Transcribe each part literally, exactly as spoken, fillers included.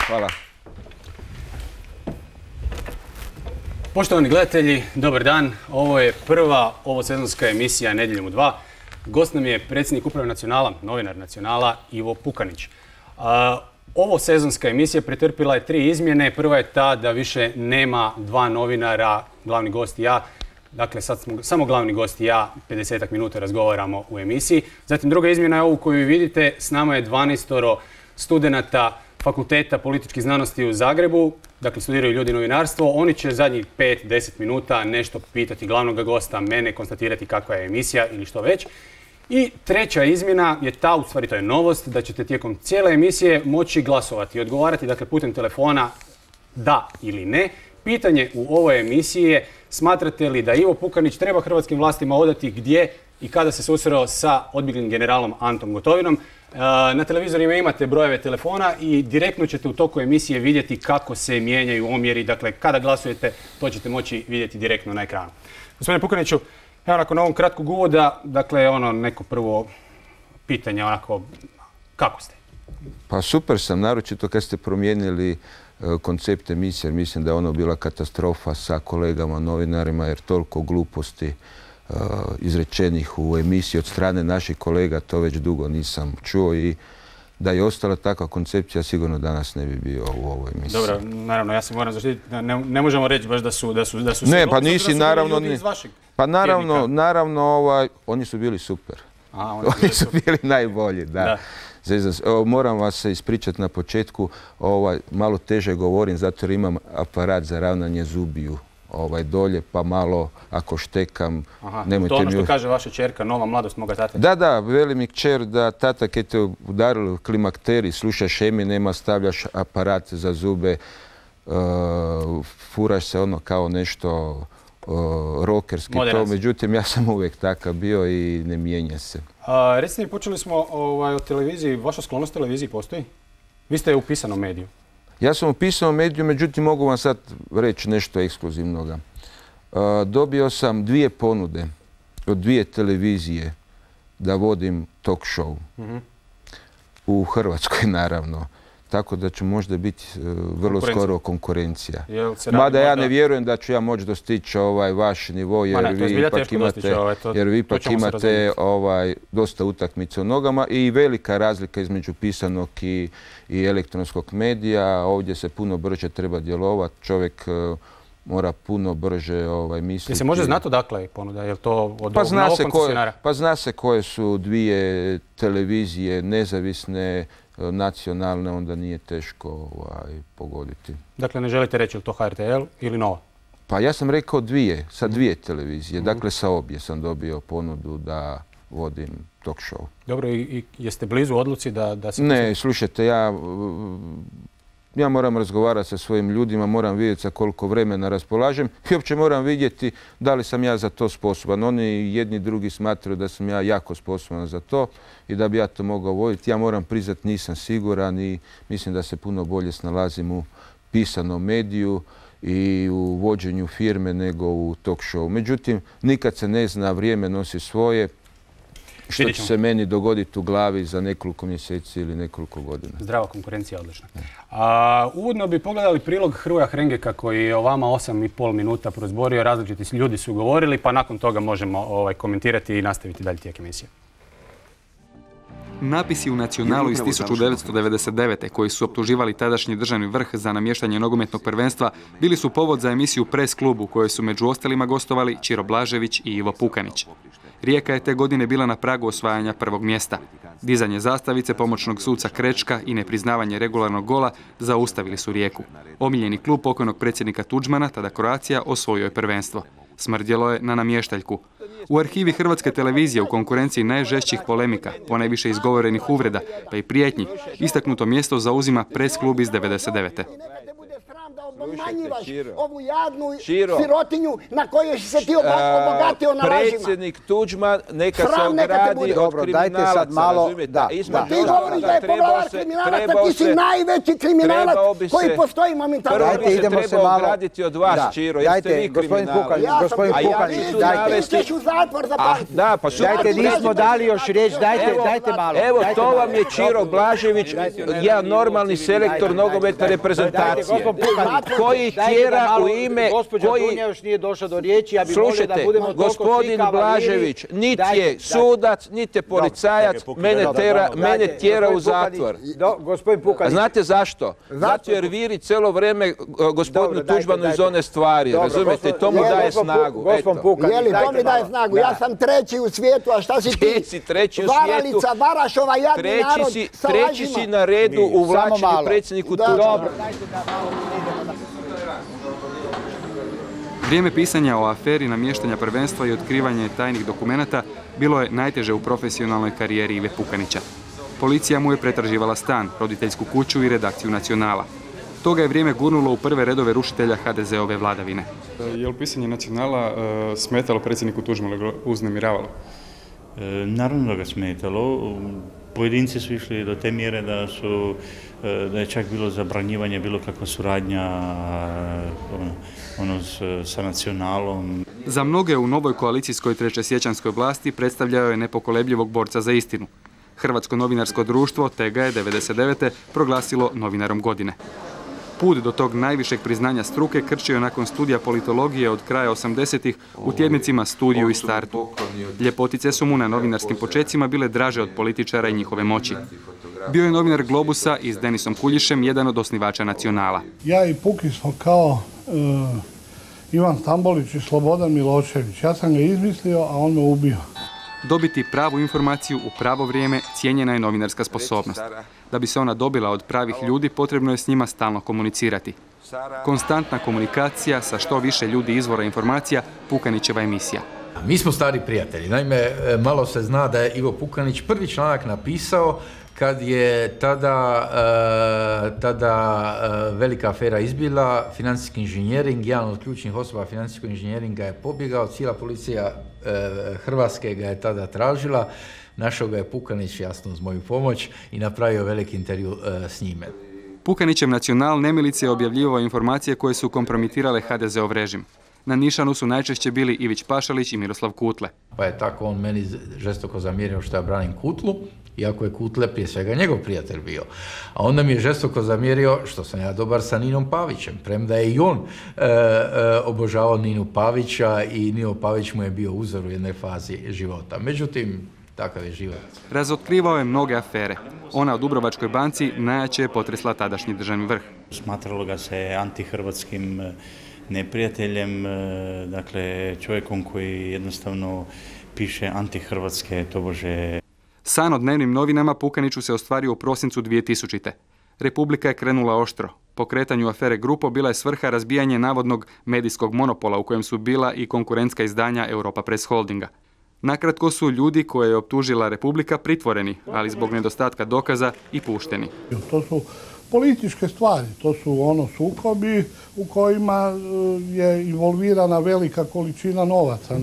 Hvala. Poštovani gledatelji, dobar dan. Ovo je prva ovosezonska emisija Nedjeljom u dva. Gost nam je predsjednik uprave Nacionala, novinar Nacionala, Ivo Pukanić. Ovo sezonska emisija pretrpila je tri izmjene. Prva je ta da više nema dva novinara, glavni gost i ja. Dakle, sad smo samo glavni gost i ja, pedesetak minuta razgovaramo u emisiji. Zatim druga izmjena je ovu koju vidite. S nama je dvanaestoro studenata Fakulteta političkih znanosti u Zagrebu. Dakle, studiraju ljudi novinarstvo. Oni će zadnjih pet do deset minuta nešto pitati glavnog gosta, mene, konstatirati kakva je emisija ili što već. I treća izmjena je ta, u stvari to je novost, da ćete tijekom cijele emisije moći glasovati i odgovarati, dakle, putem telefona da ili ne. Pitanje u ovoj emisiji je: smatrate li da Ivo Pukanić treba hrvatskim vlastima odati gdje i kada se susreo sa odbjeglim generalom Antom Gotovinom? Na televizorima imate brojeve telefona i direktno ćete u toku emisije vidjeti kako se mijenjaju omjeri. Dakle, kada glasujete, to ćete moći vidjeti direktno na ekranu. Gospodine Pukaniću, evo nakon ovog kratkog uvoda, dakle, ono neko prvo pitanje, onako, kako ste? Pa super sam, naročito kad ste promijenili koncept emisije, jer mislim da je ono bila katastrofa sa kolegama novinarima, jer toliko gluposti izrečenih u emisiji od strane naših kolega, to već dugo nisam čuo, i da je ostala takva koncepcija, sigurno danas ne bi bio u ovoj emisiji. Dobro, naravno, ja se moram zaštititi, ne, ne možemo reći baš da su da su da su Ne, pa nisi, naravno, ljudi iz vašeg pa naravno, tjednika. naravno, ovaj, oni su bili super. A, oni, oni su bili najbolji, da. da. Evo, moram vas se ispričati na početku, ovaj, malo teže govorim zato jer imam aparat za ravnanje zubiju ovaj dolje, pa malo ako štekam, Aha, nemojte to ono što mi... kaže vaša čerka, nova mladost moga tata. Da, da, veli mi kćer da tata kad te udarili klimakteri, slušaš Eminema, stavljaš aparat za zube, uh, furaš se ono kao nešto uh, rockerski, to, međutim ja sam uvijek takav bio i ne mijenja se. A, recite mi, počeli smo ovaj, o televiziji, vaša sklonost televiziji postoji? Vi ste u pisanom mediju. Ja sam u pisanom mediju, međutim mogu vam sad reći nešto ekskluzivnoga. Uh, dobio sam dvije ponude od dvije televizije da vodim talk show. Mm-hmm. U Hrvatskoj, naravno. Tako da ću možda biti uh, vrlo skoro konkurencija. Mada ja ne vjerujem da ću ja moći dostići ovaj vaš nivo, jer ne, vi ipak imate, ovaj, to, jer vi ipak imate ovaj, dosta utakmice u nogama i velika razlika između pisanog i, i elektronskog medija. Ovdje se puno brže treba djelovati. Čovjek uh, mora puno brže ovaj, misliti. Je se može znati odakle ponuda? Je li to od pa zna novog se koncesionara? Pa zna se koje su dvije televizije nezavisne, nacionalne, onda nije teško ovaj, pogoditi. Dakle, ne želite reći li to H R T L ili Nova? Pa ja sam rekao dvije, sa dvije televizije. Mm-hmm. Dakle, sa obje sam dobio ponudu da vodim talk show. Dobro, i, i jeste blizu odluci da, da se... Ne, slušajte, ja... Ja moram razgovarati sa svojim ljudima, moram vidjeti sa koliko vremena raspolažem i uopće moram vidjeti da li sam ja za to sposoban. Oni jedni drugi smatraju da sam ja jako sposoban za to i da bi ja to mogao voditi. Ja moram priznati, nisam siguran i mislim da se puno bolje snalazim u pisanom mediju i u vođenju firme nego u talk show. Međutim, nikad se ne zna, vrijeme nosi svoje. Što će se meni dogoditi u glavi za nekoliko mjeseci ili nekoliko godina. Zdrava konkurencija, odlična. A, uvodno bi pogledali prilog Hrvoja Hrengeka koji je o vama osam i pol minuta prozborio. Različiti ljudi su govorili, pa nakon toga možemo ovaj, komentirati i nastaviti dalje tijek emisije. Napisi u Nacionalu iz tisuću devetsto devedeset devete koji su optuživali tadašnji državni vrh za namještanje nogometnog prvenstva bili su povod za emisiju Press klub u kojoj su među ostalima gostovali Ćiro Blažević i Ivo Pukanić. Rijeka je te godine bila na pragu osvajanja prvog mjesta. Dizanje zastavice pomoćnog suca Krečka i nepriznavanje regularnog gola zaustavili su Rijeku. Omiljeni klub pokojnog predsjednika Tuđmana, tada Croatia, osvojio je prvenstvo. Smrdjelo je na namještaljku. U arhivi Hrvatske televizije u konkurenciji najžešćih polemika, ponajviše izgovorenih uvreda, pa i prijetnji, istaknuto mjesto zauzima Press klub iz devedeset devete obmanjivaš ovu jadnu sirotinju na kojoj si se ti obogatio na lažima. Predsjednik Tuđman neka se ogradi od kriminalaca, razumijete? Ti govoriš da je poglavar kriminalaca, ti si najveći kriminalac koji postoji momentalno. Prvo bi se trebao ograditi od vas, Čiro, jeste vi kriminalac. A ja ću navesti... Ti ćeš u zatvor za palicu. Dajte, nismo dali još riječ, dajte malo. Evo, to vam je Čiro Blažević, jedan normalni selektor nogometne reprezentacije. Koji tjera u ime... Gospođa Dunja još nije došla do riječi, ja bih volio da budemo toliko svi kavaliri. Gospodin Blažević niti je sudac, niti je policajac, mene tjera u zatvor. A znate zašto? Zato jer viri cijelo vrijeme gospodinu Tuđmanu iz one stvari, razumijete? To mu daje snagu. Jeli, to mi daje snagu. Ja sam treći u svijetu, a šta si ti? Si treći u svijetu. Varalica, Varašova, jadni narod sa lažima. Treći si na redu u vlačenju predsjedniku Tuđmanu. Vrijeme pisanja o aferi namještanja prvenstva i otkrivanje tajnih dokumenata bilo je najteže u profesionalnoj karijeri Ive Pukanića. Policija mu je pretraživala stan, roditeljsku kuću i redakciju Nacionala. Toga je vrijeme gurnulo u prve redove rušitelja ha de ze ove vladavine. Je li pisanje Nacionala smetalo predsjedniku Tuđmanu, uznemiravalo? Naravno da ga smetalo. Pojedinci su išli do te mjere da su da je čak bilo zabranjivanje, bilo kakva suradnja ono, sa Nacionalom. Za mnoge u novoj koalicijskoj trećesiječanskoj vlasti predstavljao je nepokolebljivog borca za istinu. Hrvatsko novinarsko društvo te ga je devedeset devete proglasilo novinarom godine. Put do tog najvišeg priznanja struke krčio je nakon studija politologije od kraja osamdesetih u tjednicima Studiju i Startu. Ljepotice su mu na novinarskim počecima bile draže od političara i njihove moći. Bio je novinar Globusa i s Denisom Kuljišem jedan od osnivača Nacionala. Ja i Puki smo kao uh, Ivan Stambolić i Slobodan Milošević. Ja sam ga izmislio, a on me ubio. Dobiti pravu informaciju u pravo vrijeme cijenjena je novinarska sposobnost. Da bi se ona dobila od pravih ljudi, potrebno je s njima stalno komunicirati. Konstantna komunikacija sa što više ljudi izvora informacija, Pukanićeva emisija. Mi smo stari prijatelji. Naime, malo se zna da je Ivo Pukanić prvi članak napisao kad je tada, uh, tada uh, velika afera izbila, financijski inženjering, jedan od ključnih osoba financijskog inženjeringa je pobjegao, cijela policija uh, Hrvatske ga je tada tražila, našao ga je Pukanić, jasno uz moju pomoć, i napravio veliki intervju uh, s njime. Pukanićev Nacional nemilice je objavljivao informacije koje su kompromitirale ha de zeov režim. Na nišanu su najčešće bili Ivić Pašalić i Miroslav Kutle. Pa je tako on meni žestoko zamjerio što ja branim Kutlu, iako je Kutle prije svega njegov prijatelj bio. A onda mi je žestoko zamjerio što sam ja dobar sa Ninom Pavićem, premda je i on e, e, obožavao Ninu Pavića i Nino Pavić mu je bio uzor u jednoj fazi života. Međutim, takav je život. Razotkrivao je mnoge afere. Ona u Dubrovačkoj banci najjače je potresla tadašnji državni vrh. Smatralo ga se antihrvatskim neprijateljem, dakle čovjekom koji jednostavno piše antihrvatske tobože. San o dnevnim novinama Pukaniću se ostvario u prosincu dvije tisućite. Republika je krenula oštro. Pokretanju afere Grupo bila je svrha razbijanje navodnog medijskog monopola u kojem su bila i konkurentska izdanja Europa Press Holdinga. Nakratko su ljudi koje je optužila Republika pritvoreni, ali zbog nedostatka dokaza i pušteni. To su političke stvari, to su ono sukobi u kojima je involvirana velika količina novaca.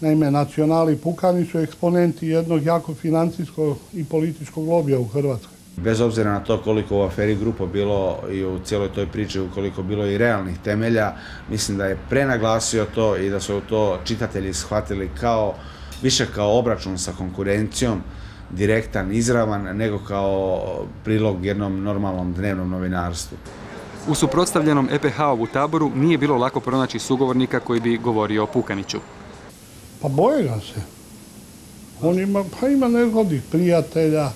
Naime, Nacionali i Pukani su eksponenti jednog jako financijskog i političkog lobija u Hrvatskoj. Bez obzira na to koliko u aferi Grupo bilo i u cijeloj toj priči, koliko bilo i realnih temelja, mislim da je prenaglasio to i da su to čitatelji shvatili kao, više kao obračun sa konkurencijom, direktan, izravan, nego kao prilog jednom normalnom dnevnom novinarstvu. U suprotstavljenom e pe ha-ovu taboru nije bilo lako pronaći sugovornika koji bi govorio o Pukaniću. Pa boje ga se. On ima, pa ima nezgodnih prijatelja,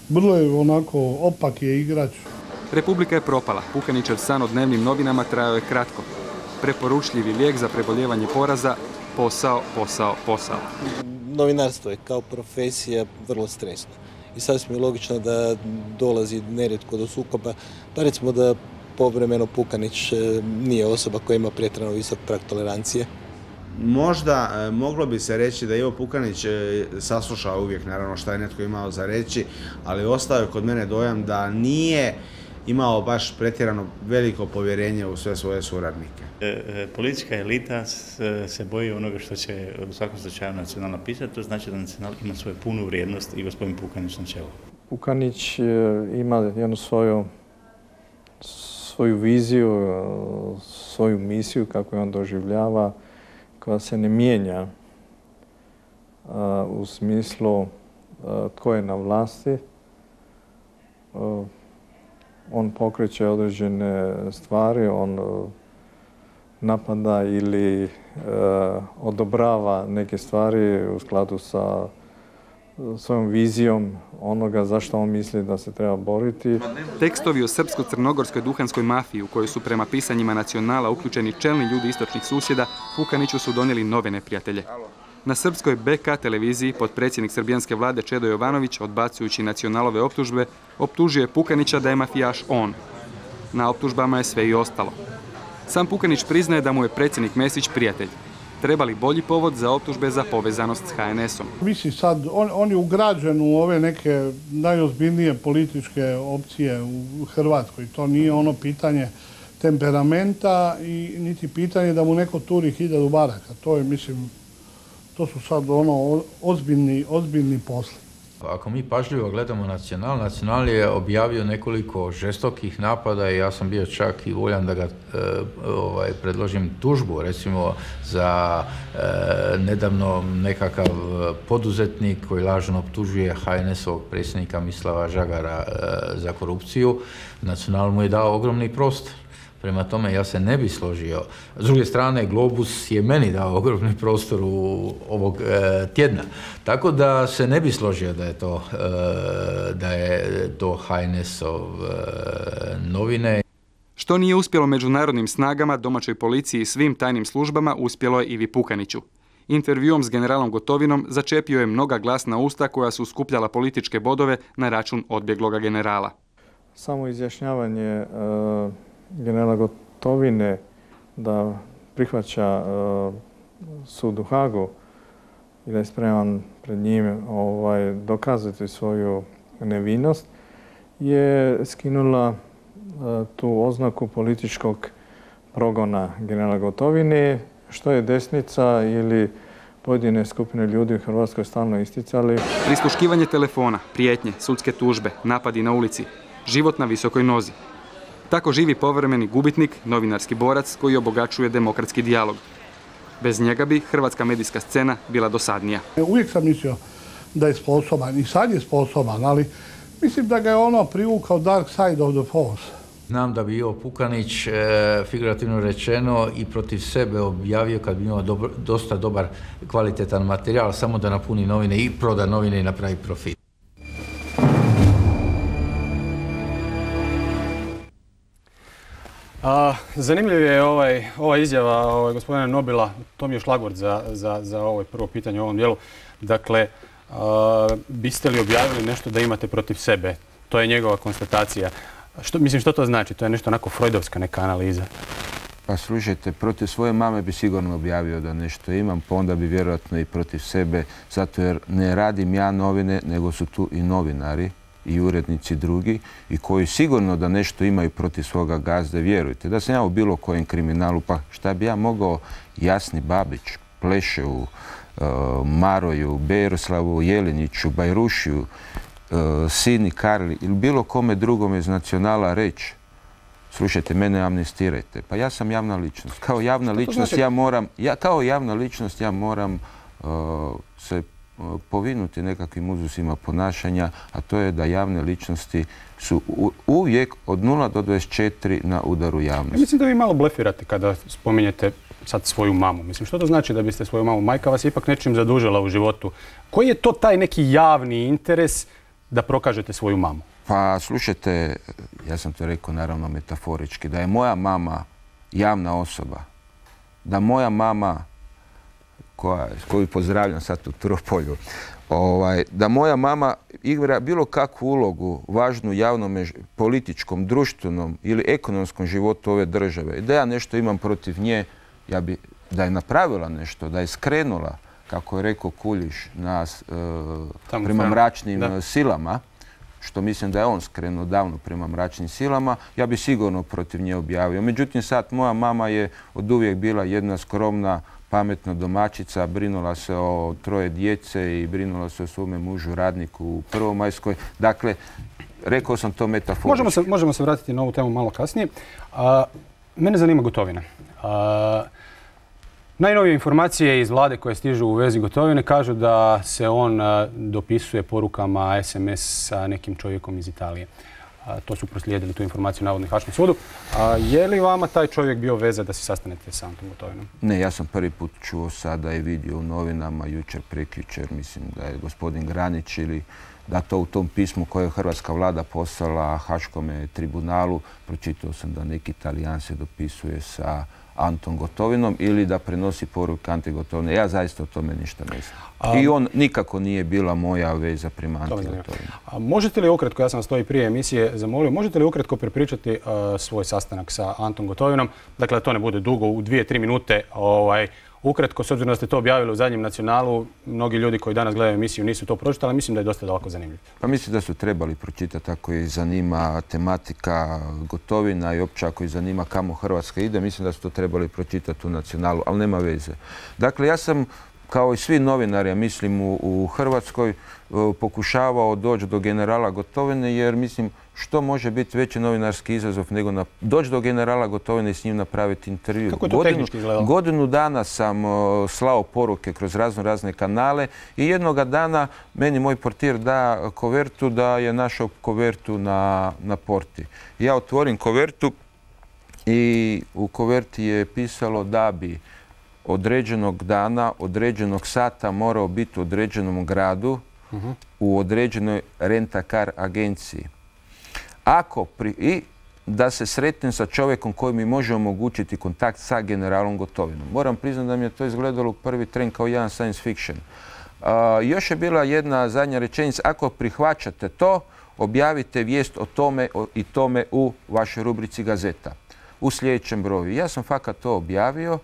vrlo je onako opak je igrač. Republika je propala. Pukanićev san o dnevnim novinama trajao je kratko. Preporučljivi lijek za preboljevanje poraza, posao, posao, posao. novinarstvo je kao profesija vrlo stresno. I sasvim je logično da dolazi nerijetko do sukoba. Pa recimo da povremeno Pukanić nije osoba koja ima pretjerano visok prag tolerancije. Možda moglo bi se reći da Ivo Pukanić saslušao uvijek naravno šta je netko imao za reći, ali ostao je kod mene dojam da nije imao baš pretjerano veliko povjerenje u sve svoje suradnike. Politička elita se boji onoga što će u svakom slučaju Nacional napisati, to znači da Nacional ima svoju punu vrijednost i gospodin Pukanić na čelu. Pukanić ima jednu svoju, svoju viziju, svoju misiju kako je on doživljava, koja se ne mijenja u smislu tko je na vlasti. On pokreće određene stvari, on napada ili odobrava neke stvari u skladu sa svojom vizijom onoga zašto on misli da se treba boriti. Tekstovi o srpsko-crnogorskoj duhanskoj mafiji u kojoj su prema pisanjima Nacionala uključeni čelni ljudi istočnih susjeda, Pukaniću su donijeli nove neprijatelje. Na srpskoj B K televiziji potpredsjednik srbijanske vlade Čedo Jovanović, odbacujući Nacionalove optužbe, optužio je Pukanića da je mafijaš on. Na optužbama je sve i ostalo. Sam Pukanić priznaje da mu je predsjednik Mesić prijatelj. Treba li bolji povod za optužbe za povezanost s H N S-om? Mislim sad, on, on je ugrađen u ove neke najozbiljnije političke opcije u Hrvatskoj. To nije ono pitanje temperamenta i niti pitanje da mu neko turi hiljadu baraka. To je, mislim, to su sad ono ozbiljni, ozbiljni posli. Ako mi pažljivo gledamo Nacional, Nacional je objavio nekoliko žestokih napada i ja sam bio čak i voljan da ga e, ovaj, predložim tužbu, recimo za e, nedavno nekakav poduzetnik koji lažno optužuje H N S-ovog predsjednika Mislava Žagara e, za korupciju. Nacional mu je dao ogromni prostor. Prema tome, ja se ne bi složio. S druge strane, Globus je meni dao ogromni prostor u ovog e, tjedna. Tako da se ne bi složio da je to, e, da je to H N S-ov e, novine. Što nije uspjelo međunarodnim snagama, domaćoj policiji i svim tajnim službama, uspjelo je Ivi Pukaniću. Intervjuom s generalom Gotovinom začepio je mnoga glasna usta koja su skupljala političke bodove na račun odbjegloga generala. Samo izjašnjavanje e, generala Gotovine da prihvaća uh, sud u Hagu i da je spreman pred njim ovaj, dokazati svoju nevinost, je skinula uh, tu oznaku političkog progona generala Gotovine, što je desnica ili pojedine skupine ljudi u Hrvatskoj stalno isticali. Prisluškivanje telefona, prijetnje, sudske tužbe, napadi na ulici, život na visokoj nozi. Tako živi povremeni gubitnik, novinarski borac koji obogaćuje demokratski dijalog. Bez njega bi hrvatska medijska scena bila dosadnija. Uvijek sam mislio da je sposoban i sad je sposoban, ali mislim da ga je ono privukao dark side of the force. Znam da bi Ivo Pukanić, e, figurativno rečeno, i protiv sebe objavio kad bi imao dobro, dosta dobar kvalitetan materijal, samo da napuni novine i proda novine i napravi profit. A, zanimljiv je ovaj, ova izjava ovaj, gospodina Nobila, to mi je šlagvort za, za, za ovo prvo pitanje u ovom dijelu. Dakle, a, biste li objavili nešto da imate protiv sebe? To je njegova konstatacija. Što, mislim, što to znači? To je nešto onako freudovska neka analiza. Pa slušajte, protiv svoje mame bi sigurno objavio da nešto imam, pa onda bi vjerojatno i protiv sebe, zato jer ne radim ja novine, nego su tu i novinari i urednici drugi i koji sigurno da nešto imaju protiv svoga gazde, vjerujte. Da sam ja u bilo kojem kriminalu, pa šta bi ja mogao Jasni Babić, Pleševu, uh, Maroju, Beroslavu Jeliniću, Bajrušiju, uh, Sini Karli ili bilo kome drugome iz Nacionala reći: slušajte, mene amnestirajte. Pa ja sam javna ličnost. Kao javna ličnost ja moram, ja, kao javna ličnost ja moram uh, se povinuti nekakvim uzusima ponašanja, a to je da javne ličnosti su uvijek od nula do dvadeset četiri na udaru javnosti. Ja mislim da vi malo blefirate kada spominjete sad svoju mamu. Mislim, što to znači da biste svoju mamu? Majka vas je ipak nečim zadužila u životu. Koji je to taj neki javni interes da prokažete svoju mamu? Pa slušajte, ja sam to rekao naravno metaforički, da je moja mama javna osoba, da moja mama koja, koju pozdravljam sad u Turopolju, ovaj, da moja mama igra bilo kakvu ulogu važnu u javnom, političkom, društvenom ili ekonomskom životu ove države. I da ja nešto imam protiv nje, ja bi, da je napravila nešto, da je skrenula, kako je rekao Kuljiš, nas, e, prema mračnim da. silama, što mislim da je on skrenuo davno prema mračnim silama, ja bi sigurno protiv nje objavio. Međutim, sad moja mama je od uvijek bila jedna skromna, pametna domaćica, brinula se o troje djece i brinula se o svome mužu radniku u Prvomajskoj. Dakle, rekao sam to metaforički. Možemo se, možemo se vratiti na ovu temu malo kasnije. A, mene zanima Gotovina. A, najnovije informacije iz vlade koje stižu u vezi Gotovine kažu da se on a, dopisuje porukama es em es sa nekim čovjekom iz Italije. A, to su proslijedili tu informaciju navodno Haškom sudu. A je li vama taj čovjek bio veza da se sastanete sa Antom Gotovinom? Ne, ja sam prvi put čuo sada i vidio u novinama, jučer, prekjučer, mislim da je gospodin Granić ili da to u tom pismu koje je hrvatska vlada poslala Haškome tribunalu, pročitao sam da neki Talijan se dopisuje sa Antom Gotovinom ili da prenosi poruke Ante Gotovine. Ja zaista o tome ništa ne znam. A, I on nikako nije bila moja veza prema Ante Gotovinu. A možete li ukratko, ja sam vas to i prije emisije zamolio, možete li ukratko prepričati uh, svoj sastanak sa Antom Gotovinom? Dakle, da to ne bude dugo, u dvije, tri minute. Ovaj, ukratko, s obzirom da ste to objavili u zadnjem Nacionalu, mnogi ljudi koji danas gledaju emisiju nisu to pročitali, ali mislim da je dosta daleko zanimljivo. Pa mislim da su trebali pročitati ako ih zanima tematika Gotovina i opće ako ih zanima kamo Hrvatska ide, mislim da su to trebali pročitati u Nacionalu, ali nema veze. Dakle, ja sam kao i svi novinari, ja mislim u, u Hrvatskoj, pokušavao doći do generala Gotovine jer mislim što može biti veći novinarski izazov nego na, doći do generala Gotovine i s njim napraviti intervju. Kako je to godinu, tehnički izgledalo? Godinu dana sam uh, slao poruke kroz razno razne kanale i jednoga dana meni moj portir da kovertu da je našao kovertu na, na porti. Ja otvorim kovertu i u koverti je pisalo da bi određenog dana, određenog sata morao biti u određenom gradu, uh-huh. u određenoj rent-a-car agenciji. Ako pri, I da se sretnem sa čovjekom koji mi može omogućiti kontakt sa generalom Gotovinom. Moram priznati da mi je to izgledalo u prvi tren kao jedan science fiction. Uh, još je bila jedna zadnja rečenica. Ako prihvaćate to, objavite vijest o tome o, i tome u vašoj rubrici Gazeta. U sljedećem broju. Ja sam fakat to objavio.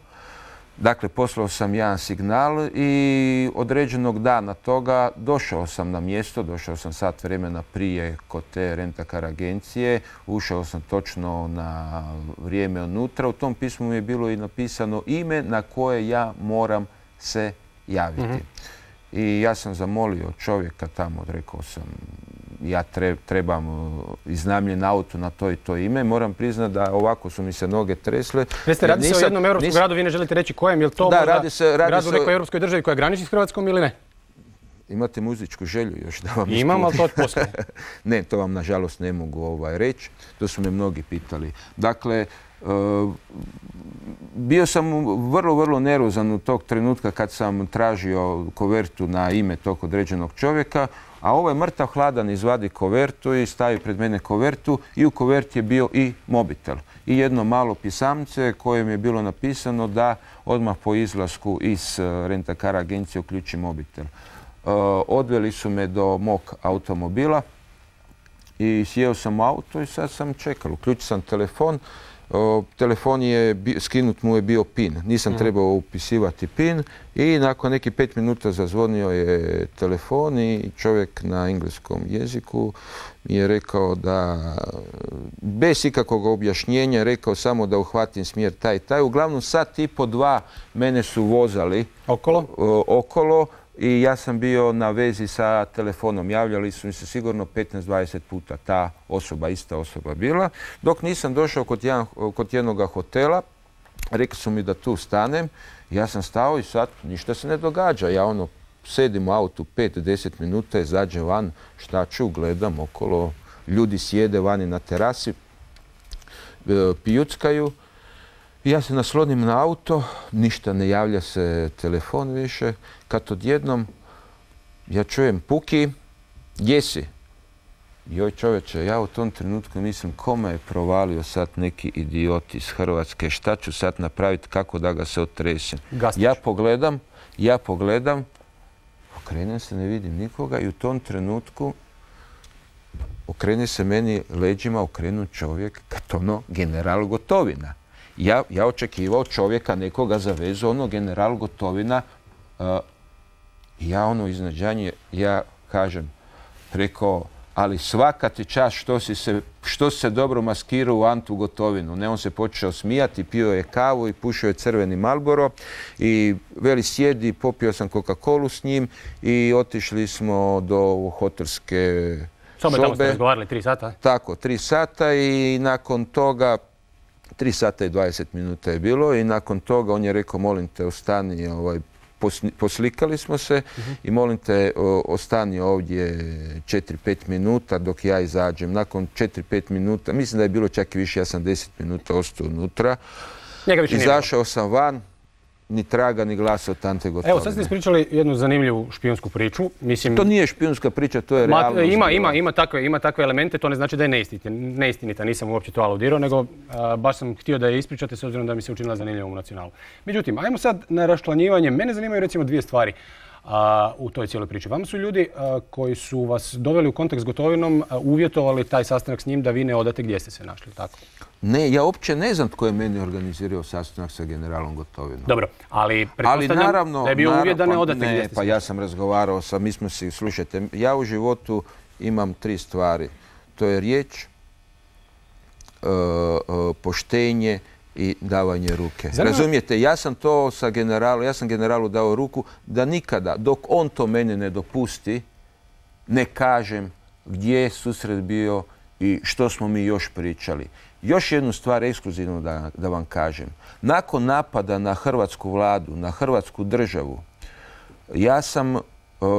Dakle, poslao sam jedan signal i određenog dana toga došao sam na mjesto, došao sam sat vremena prije kod te rent-a-car agencije, ušao sam točno na vrijeme unutra. U tom pismu mi je bilo i napisano ime na koje ja moram se javiti. Mm-hmm. I ja sam zamolio čovjeka tamo, rekao sam, ja trebam iznajmljen auto na to i to ime. Moram priznati da ovako su mi se noge tresle. Jeste, radi se o jednom europskom gradu, vi ne želite reći kojem, je li to da, možda radi se, radi grad u se... nekoj europskoj državi koja graniči s Hrvatskom ili ne? Imate muzičku želju još da vam Imam, ali to poslije. Ne, to vam nažalost ne mogu ovaj, reći. To su me mnogi pitali. Dakle, Uh, bio sam vrlo, vrlo nervozan u tog trenutka kad sam tražio kovertu na ime tog određenog čovjeka, a ovaj mrtav hladan izvadi kovertu i stavi pred mene kovertu i u koverti je bio i mobitel. I jedno malo pisamce kojem je bilo napisano da odmah po izlasku iz rent-a-car agencije uključi mobitel. Uh, odveli su me do mog automobila i sjeo sam u auto i sad sam čekao. Uključio sam telefon. O, telefon je, skinut mu je bio pin. Nisam mm. trebao upisivati pin i nakon nekih pet minuta zazvonio je telefon i čovjek na engleskom jeziku mi je rekao da, bez ikakvog objašnjenja, rekao samo da uhvatim smjer taj i taj. Uglavnom sat i po dva mene su vozali okolo, o, okolo i ja sam bio na vezi sa telefonom. Javljali su mi se sigurno petnaest dvadeset puta ta osoba, ista osoba bila. Dok nisam došao kod, jedan, kod jednog hotela, rekli su mi da tu stanem. Ja sam stao i sad ništa se ne događa. Ja ono sedim u autu pet do deset minuta, izađem van, šta ću, gledam okolo, ljudi sjede vani na terasi, pijuckaju. Ja se naslonim na auto, ništa ne javlja se telefon više, kad odjednom ja čujem puki, gdje si? Joj čovječe, ja u tom trenutku mislim kome je provalio sad neki idiot iz Hrvatske, šta ću sad napraviti, kako da ga se otresem. Gastić. Ja pogledam, Ja pogledam, okrenem se, ne vidim nikoga i u tom trenutku okrene se meni leđima, okrenu čovjek, ono, general Gotovina. Ja, ja očekivao čovjeka, nekoga za vezu, ono, general Gotovina, uh, ja ono iznenađenje, ja kažem, rekao, ali svaka ti čast što si se, što si se dobro maskirao u Antu Gotovinu. Ne, on se počeo smijati, pio je kavu i pušio je crveni Marlboro i veli sjedi, popio sam Coca-Colu s njim i otišli smo do hotelske sobe. Tamo ste razgovarali tri sata? Tako, tri sata i nakon toga, tri sata i dvadeset minuta je bilo i nakon toga on je rekao, molim te, ostani, ovaj, poslikali smo se i molim te, ostani ovdje četiri pet minuta dok ja izađem. Nakon četiri pet minuta, mislim da je bilo čak i više, ja sam deset minuta ostao unutra. Izašao sam van, ni traga, ni glasa od Ante Gotovine. Evo, sad ste ispričali jednu zanimljivu špijunsku priču. Mislim, to nije špijunska priča, to je realnost. Ima, ima, ima, takve, ima takve elemente, to ne znači da je neistinita. neistinita. Nisam uopće to aludirao, nego a, baš sam htio da je ispričate s obzirom da mi se učinila zanimljivom u Nacionalu. Međutim, ajmo sad na raščlanjivanje. Mene zanimaju recimo dvije stvari a, u toj cijeloj priči. Vama su ljudi a, koji su vas doveli u kontakt s Gotovinom, a, uvjetovali taj sastanak s njim da vi ne odate gdje ste se našli, tako? Ne, ja uopće ne znam tko je meni organizirao sastanak sa generalom Gotovinom. Dobro, ali pretpostavljam da je bio uvjet da ne odate gdje ste se. Pa ja sam razgovarao sa, mi smo si, slušajte, ja u životu imam tri stvari. To je riječ, poštenje i davanje ruke. Razumijete, ja sam to sa generalom, ja sam generalu dao ruku da nikada, dok on to mene ne dopusti, ne kažem gdje je susret bio i što smo mi još pričali. Još jednu stvar ekskluzivno da, da vam kažem. Nakon napada na hrvatsku vladu, na hrvatsku državu, ja sam uh,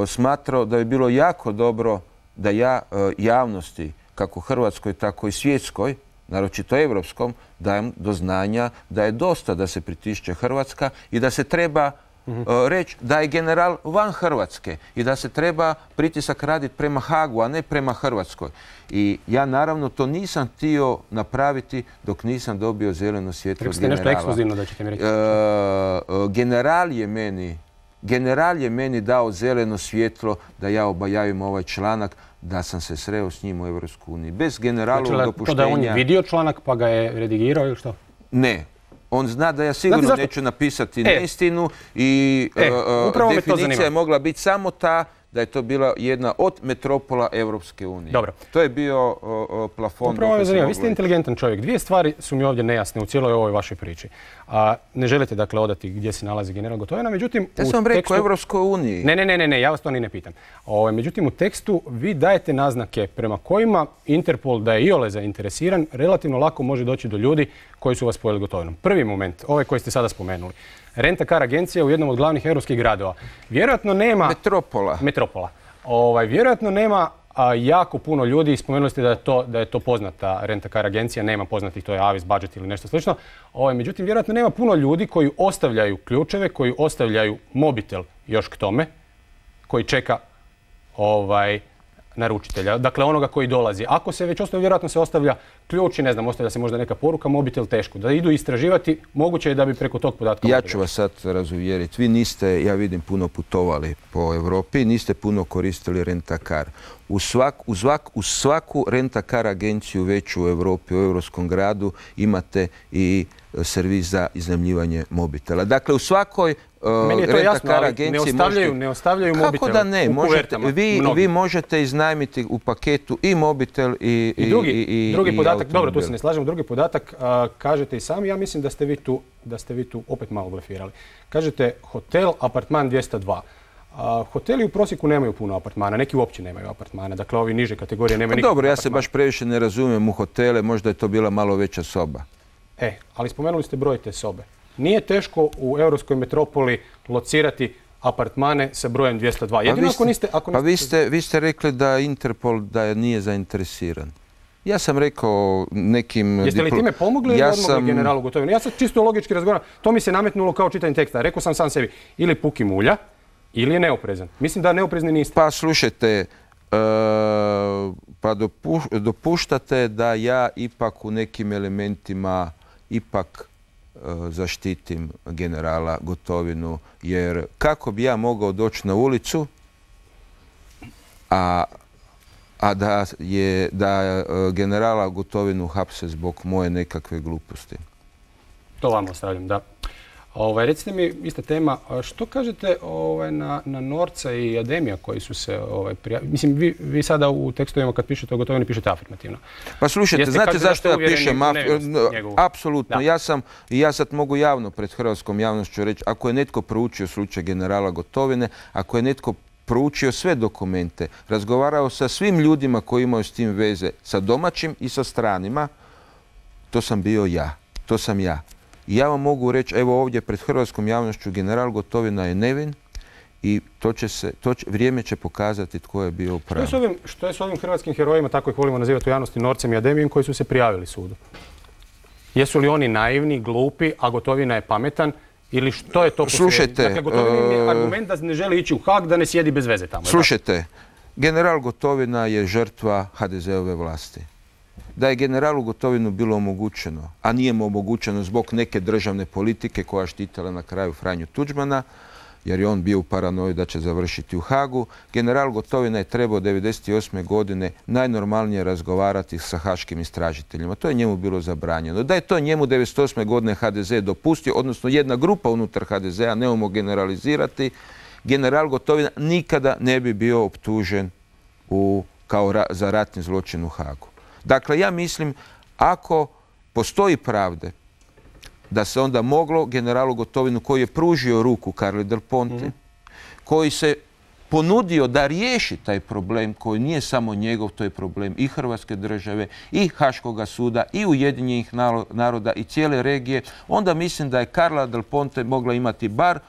smatrao da je bilo jako dobro da ja uh, javnosti, kako hrvatskoj, tako i svjetskoj, naročito evropskom, dajem do znanja da je dosta da se pritišće Hrvatska i da se treba uh, reći da je general van Hrvatske i da se treba pritisak raditi prema Hagu, a ne prema Hrvatskoj. I ja naravno to nisam htio napraviti dok nisam dobio zeleno svjetlo od generala. Rekli ste nešto ekskluzivno da ćete mi reći. Uh, general je meni, general je meni dao zeleno svjetlo da ja obajavim ovaj članak, da sam se sreo s njim u Europskoj uniji. Bez generalovog znači, dopuštenja... To da on je vidio članak pa ga je redigirao ili što? Ne. On zna da ja sigurno neću napisati e. neistinu i e, uh, definicija je mogla biti samo ta da je to bila jedna od metropola Europske unije. Dobro. To je bio uh, plafon. Upravo me zanima. Vi ste inteligentan čovjek. Dvije stvari su mi ovdje nejasne u cijeloj ovoj vašoj priči. A, ne želite dakle odati gdje se nalazi general Gotovina, međutim... Ja sam vam rekao u Europskoj uniji. Ne, ne, ne, ne, ja vas to ni ne pitam. O, međutim, u tekstu vi dajete naznake prema kojima Interpol, da je iole zainteresiran, relativno lako može doći do ljudi koji su vas spojili Gotovinom. Prvi moment, ovaj koji ste sada spomenuli. Rent-a-car agencija u jednom od glavnih europskih gradova. Vjerojatno nema... Metropola. Metropola. Ovaj, vjerojatno nema a, jako puno ljudi, spomenuli ste da je to, da je to poznata rent-a-car agencija, nema poznatih, to je Avis Budget ili nešto slično. Ovaj, međutim, vjerojatno nema puno ljudi koji ostavljaju ključeve, koji ostavljaju mobitel još k tome, koji čeka ovaj, naručitelja, dakle onoga koji dolazi. Ako se već ostavlja, vjerojatno se ostavlja ključ i ne znam, ostavlja se možda neka poruka, mobitel teško. Da idu istraživati, moguće je da bi preko tog podatka... Ja ću vas sad razuvjeriti. Vi niste, ja vidim, puno putovali po Europi, niste puno koristili rent-a-car. U, svak, u, svak, u svaku rent-a-car agenciju veću u Europi, u europskom gradu, imate i servis za iznajmljivanje mobitela. Dakle, u svakoj Meni je to jasno, ali ne ostavljaju, možete... ne ostavljaju mobitel. Kako da ne? Možete, vi, vi možete iznajmiti u paketu i mobitel i, I drugi, i, i, i drugi podatak, automobil. dobro, tu se ne slažem, drugi podatak, a, kažete i sami, ja mislim da ste vi tu, da ste vi tu opet malo blefirali. Kažete hotel, apartman dvjesto dva. A, hoteli u prosjeku nemaju puno apartmana, neki uopće nemaju apartmana, dakle ovi niže kategorije nemaju nikakvog Dobro, ja apartmana. se baš previše ne razumijem u hotele, možda je to bila malo veća soba. E, ali spomenuli ste broj te sobe. Nije teško u europskoj metropoli locirati apartmane sa brojem dvjesto dva. Jedino ako niste... Ako pa niste... vi ste, vi ste rekli da Interpol da nije zainteresiran. Ja sam rekao nekim... Jeste li time pomogli ili odmogli generalu Gotovinu? Ja sad čisto logički razgovaram. To mi se nametnulo kao čitanje teksta. Rekao sam sam sebi, ili puki mulja, ili je neoprezan. Mislim da neoprezni niste. Pa slušajte, uh, pa dopuš, dopuštate da ja ipak u nekim elementima ipak zaštitim generala Gotovinu, jer kako bi ja mogao doći na ulicu, a, a da je da generala Gotovinu hapse zbog moje nekakve gluposti. To vam ostavljam, da. Ovaj, recite mi, ista tema, što kažete ovaj, na, na Norca i Ademija koji su se ovaj, prijavili? Mislim, vi, vi sada u tekstovima kad pišete o Gotovini pišete afirmativno. Pa slušajte, Jeste znate zašto ja pišem? Apsolutno. Da. Ja sam, i ja sad mogu javno pred hrvatskom javnošću reći, ako je netko proučio slučaj generala Gotovine, ako je netko proučio sve dokumente, razgovarao sa svim ljudima koji imaju s tim veze, sa domaćim i sa stranima, to sam bio ja. To sam ja. I ja vam mogu reći, evo ovdje pred hrvatskom javnošću, general Gotovina je nevin i to će se, to će, vrijeme će pokazati tko je bio u pravu. Što je s ovim, što je s ovim hrvatskim herojima, tako ih volimo nazivati u javnosti, Norcem i Ademijem, koji su se prijavili sudu? Jesu li oni naivni, glupi, a Gotovina je pametan? Ili što je to? Slušajte, dakle, Gotovina je argument da ne želi ići u Haag, da ne sjedi bez veze tamo. Slušajte, general Gotovina je žrtva ha de ze-ove vlasti. Da je generalu Gotovinu bilo omogućeno, a nije mu omogućeno zbog neke državne politike koja štitila na kraju Franju Tuđmana, jer je on bio u paranoji da će završiti u Hagu, general Gotovina je trebao devedeset osme godine najnormalnije razgovarati sa haškim istražiteljima. To je njemu bilo zabranjeno. Da je to njemu devedeset osme godine ha de ze dopustio, odnosno jedna grupa unutar ha de ze-a, nemojmo generalizirati, general Gotovina nikada ne bi bio optužen u, kao ra, za ratni zločin u Hagu. Dakle, ja mislim, ako postoji pravde, da se onda moglo generalu Gotovinu, koji je pružio ruku Carli Del Ponte, mm-hmm. koji se ponudio da riješi taj problem koji nije samo njegov, to je problem i Hrvatske države, i Haškoga suda, i Ujedinjenih naroda, i cijele regije, onda mislim da je Carla Del Ponte mogla imati bar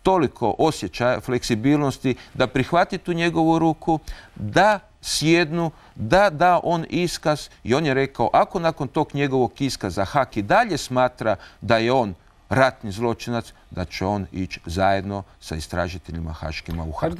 toliko osjećaja, fleksibilnosti, da prihvati tu njegovu ruku, da sjednu, da da on iskaz i on je rekao, ako nakon tog njegovog iskaza Haag i dalje smatra da je on ratni zločinac, da će on ići zajedno sa istražiteljima haškima u Haag.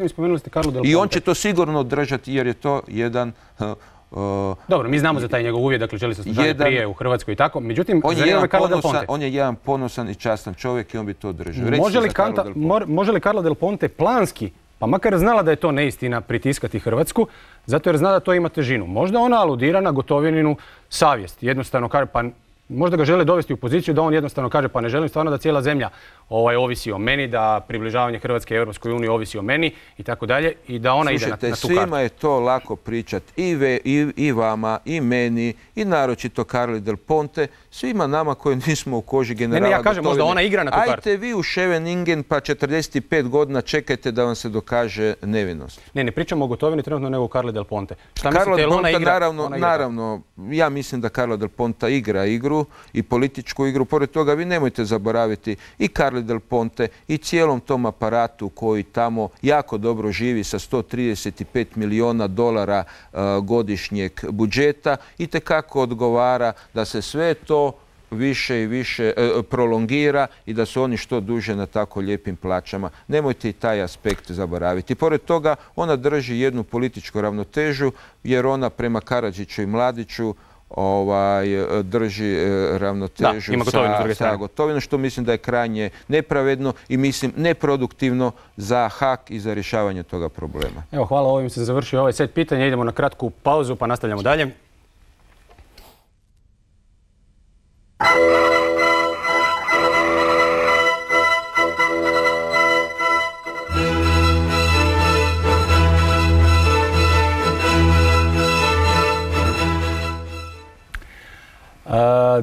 I on će to sigurno održati jer je to jedan... Uh, uh, Dobro, mi znamo za taj njegov uvjet, dakle želi se služati prije u Hrvatskoj i tako. Međutim, on je, jedan ponosan, on je jedan ponosan i častan čovjek i on bi to održao. Može li, Kanta, može li Carla Del Ponte planski, pa makar znala da je to neistina, pritiskati Hrvatsku, zato jer zna da to ima težinu. Možda ona aludira na Gotovininu savjest. Jednostavno kaže, pa možda ga žele dovesti u poziciju da on jednostavno kaže, pa ne želim stvarno da cijela zemlja ovaj, ovisi o meni, da približavanje Hrvatske Europskoj uniji ovisi o meni i tako dalje i da ona Slušajte, ide na, na tu kartu. kartu. Svima je to lako pričati i, i, i vama, i meni, i naročito Carli Del Ponte, svima nama koji nismo u koži generala Ne, ne, ja kažem, Gotovine. možda ona igra na tu kartu. Ajte vi u Scheveningen pa četrdeset pet godina čekajte da vam se dokaže nevinost. Ne, ne pričamo o Gotovini trenutno nego o Carli Del Ponte. Šta Carlo mislite, Del ona Ponte, igra? naravno, ona igra naravno, ja mislim da Carlo Del Ponte igra igru i političku igru. Pored toga vi nemojte zaboraviti i Carli Del Ponte i cijelom tom aparatu koji tamo jako dobro živi sa sto trideset pet milijuna dolara uh, godišnjeg budžeta i tekako odgovara da se sve to više i više e, prolongira i da su oni što duže na tako lijepim plaćama. Nemojte i taj aspekt zaboraviti. Pored toga, ona drži jednu političku ravnotežu jer ona prema Karadžiću i Mladiću ovaj, drži e, ravnotežu da, sa, sa Gotovinom, što mislim da je krajnje nepravedno i mislim neproduktivno za Haag i za rješavanje toga problema. Evo, hvala, ovim se završio ovaj set pitanja. Idemo na kratku pauzu pa nastavljamo dalje.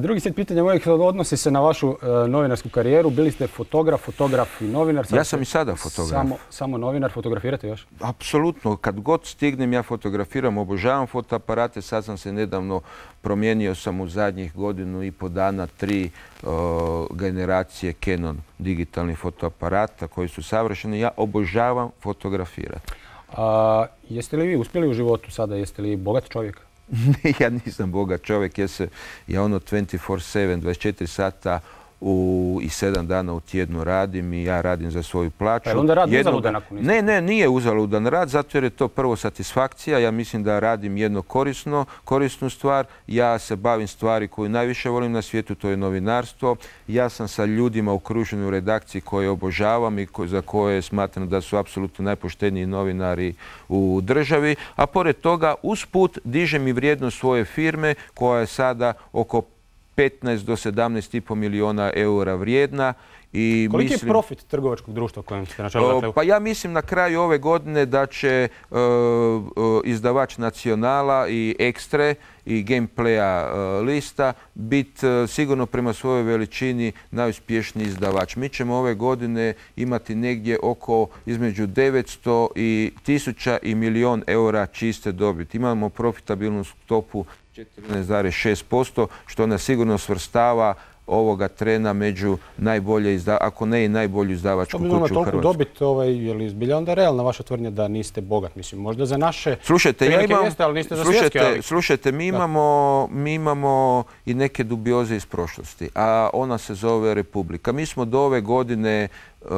Drugi set pitanja mojih odnosi se na vašu novinarsku karijeru. Bili ste fotograf, fotograf i novinar. Ja sam i sada fotograf. Samo, samo novinar, fotografirate još? Apsolutno. Kad god stignem ja fotografiram, obožavam fotoaparate. Sad sam se nedavno promijenio sam u zadnjih godinu i po dana tri uh, generacije Canon digitalnih fotoaparata koji su savršeni. Ja obožavam fotografirati. A, jeste li vi uspjeli u životu sada? Jeste li bogat čovjek? Ja nisam bogat čovjek, ja, se, ja ono dvajset četiri sedam, dvadeset četiri sata u, i sedam dana u tjednu radim i ja radim za svoju plaću. Pa onda rad uzaludan ako niste? Ne, ne, nije uzaludan rad, zato jer je to prvo satisfakcija. Ja mislim da radim jedno korisno, korisnu stvar. Ja se bavim stvari koju najviše volim na svijetu, to je novinarstvo. Ja sam sa ljudima okružen u redakciji koje obožavam i za koje smatram da su apsolutno najpošteniji novinari u državi. A pored toga, usput dižem i vrijednost svoje firme koja je sada oko petnaest do sedamnaest i pol milijuna eura vrijedna. I koliki mislim, je profit trgovačkog društva kojem ste na čelu? Pa ja mislim na kraju ove godine da će uh, uh, izdavač Nacionala i Ekstre i Gameplaya uh, lista biti uh, sigurno prema svojoj veličini najuspješniji izdavač. Mi ćemo ove godine imati negdje oko između devetsto i tisuća i milijun eura čiste dobiti. Imamo profitabilnu stopu četrnaest zarez šest posto što nas sigurno svrstava ovoga trena među najbolje, ako ne i najbolju izdavačku kuću u Hrvatskoj. Toliko dobit, ovaj, je li zbilja onda realna vaša tvrdnja da niste bogat? Mislim, možda za naše slušajte, ja imam, jeste, ali niste za slušajte, svjetske. Ali... Slušajte, mi imamo, mi imamo i neke dubioze iz prošlosti, a ona se zove Republika. Mi smo do ove godine uh,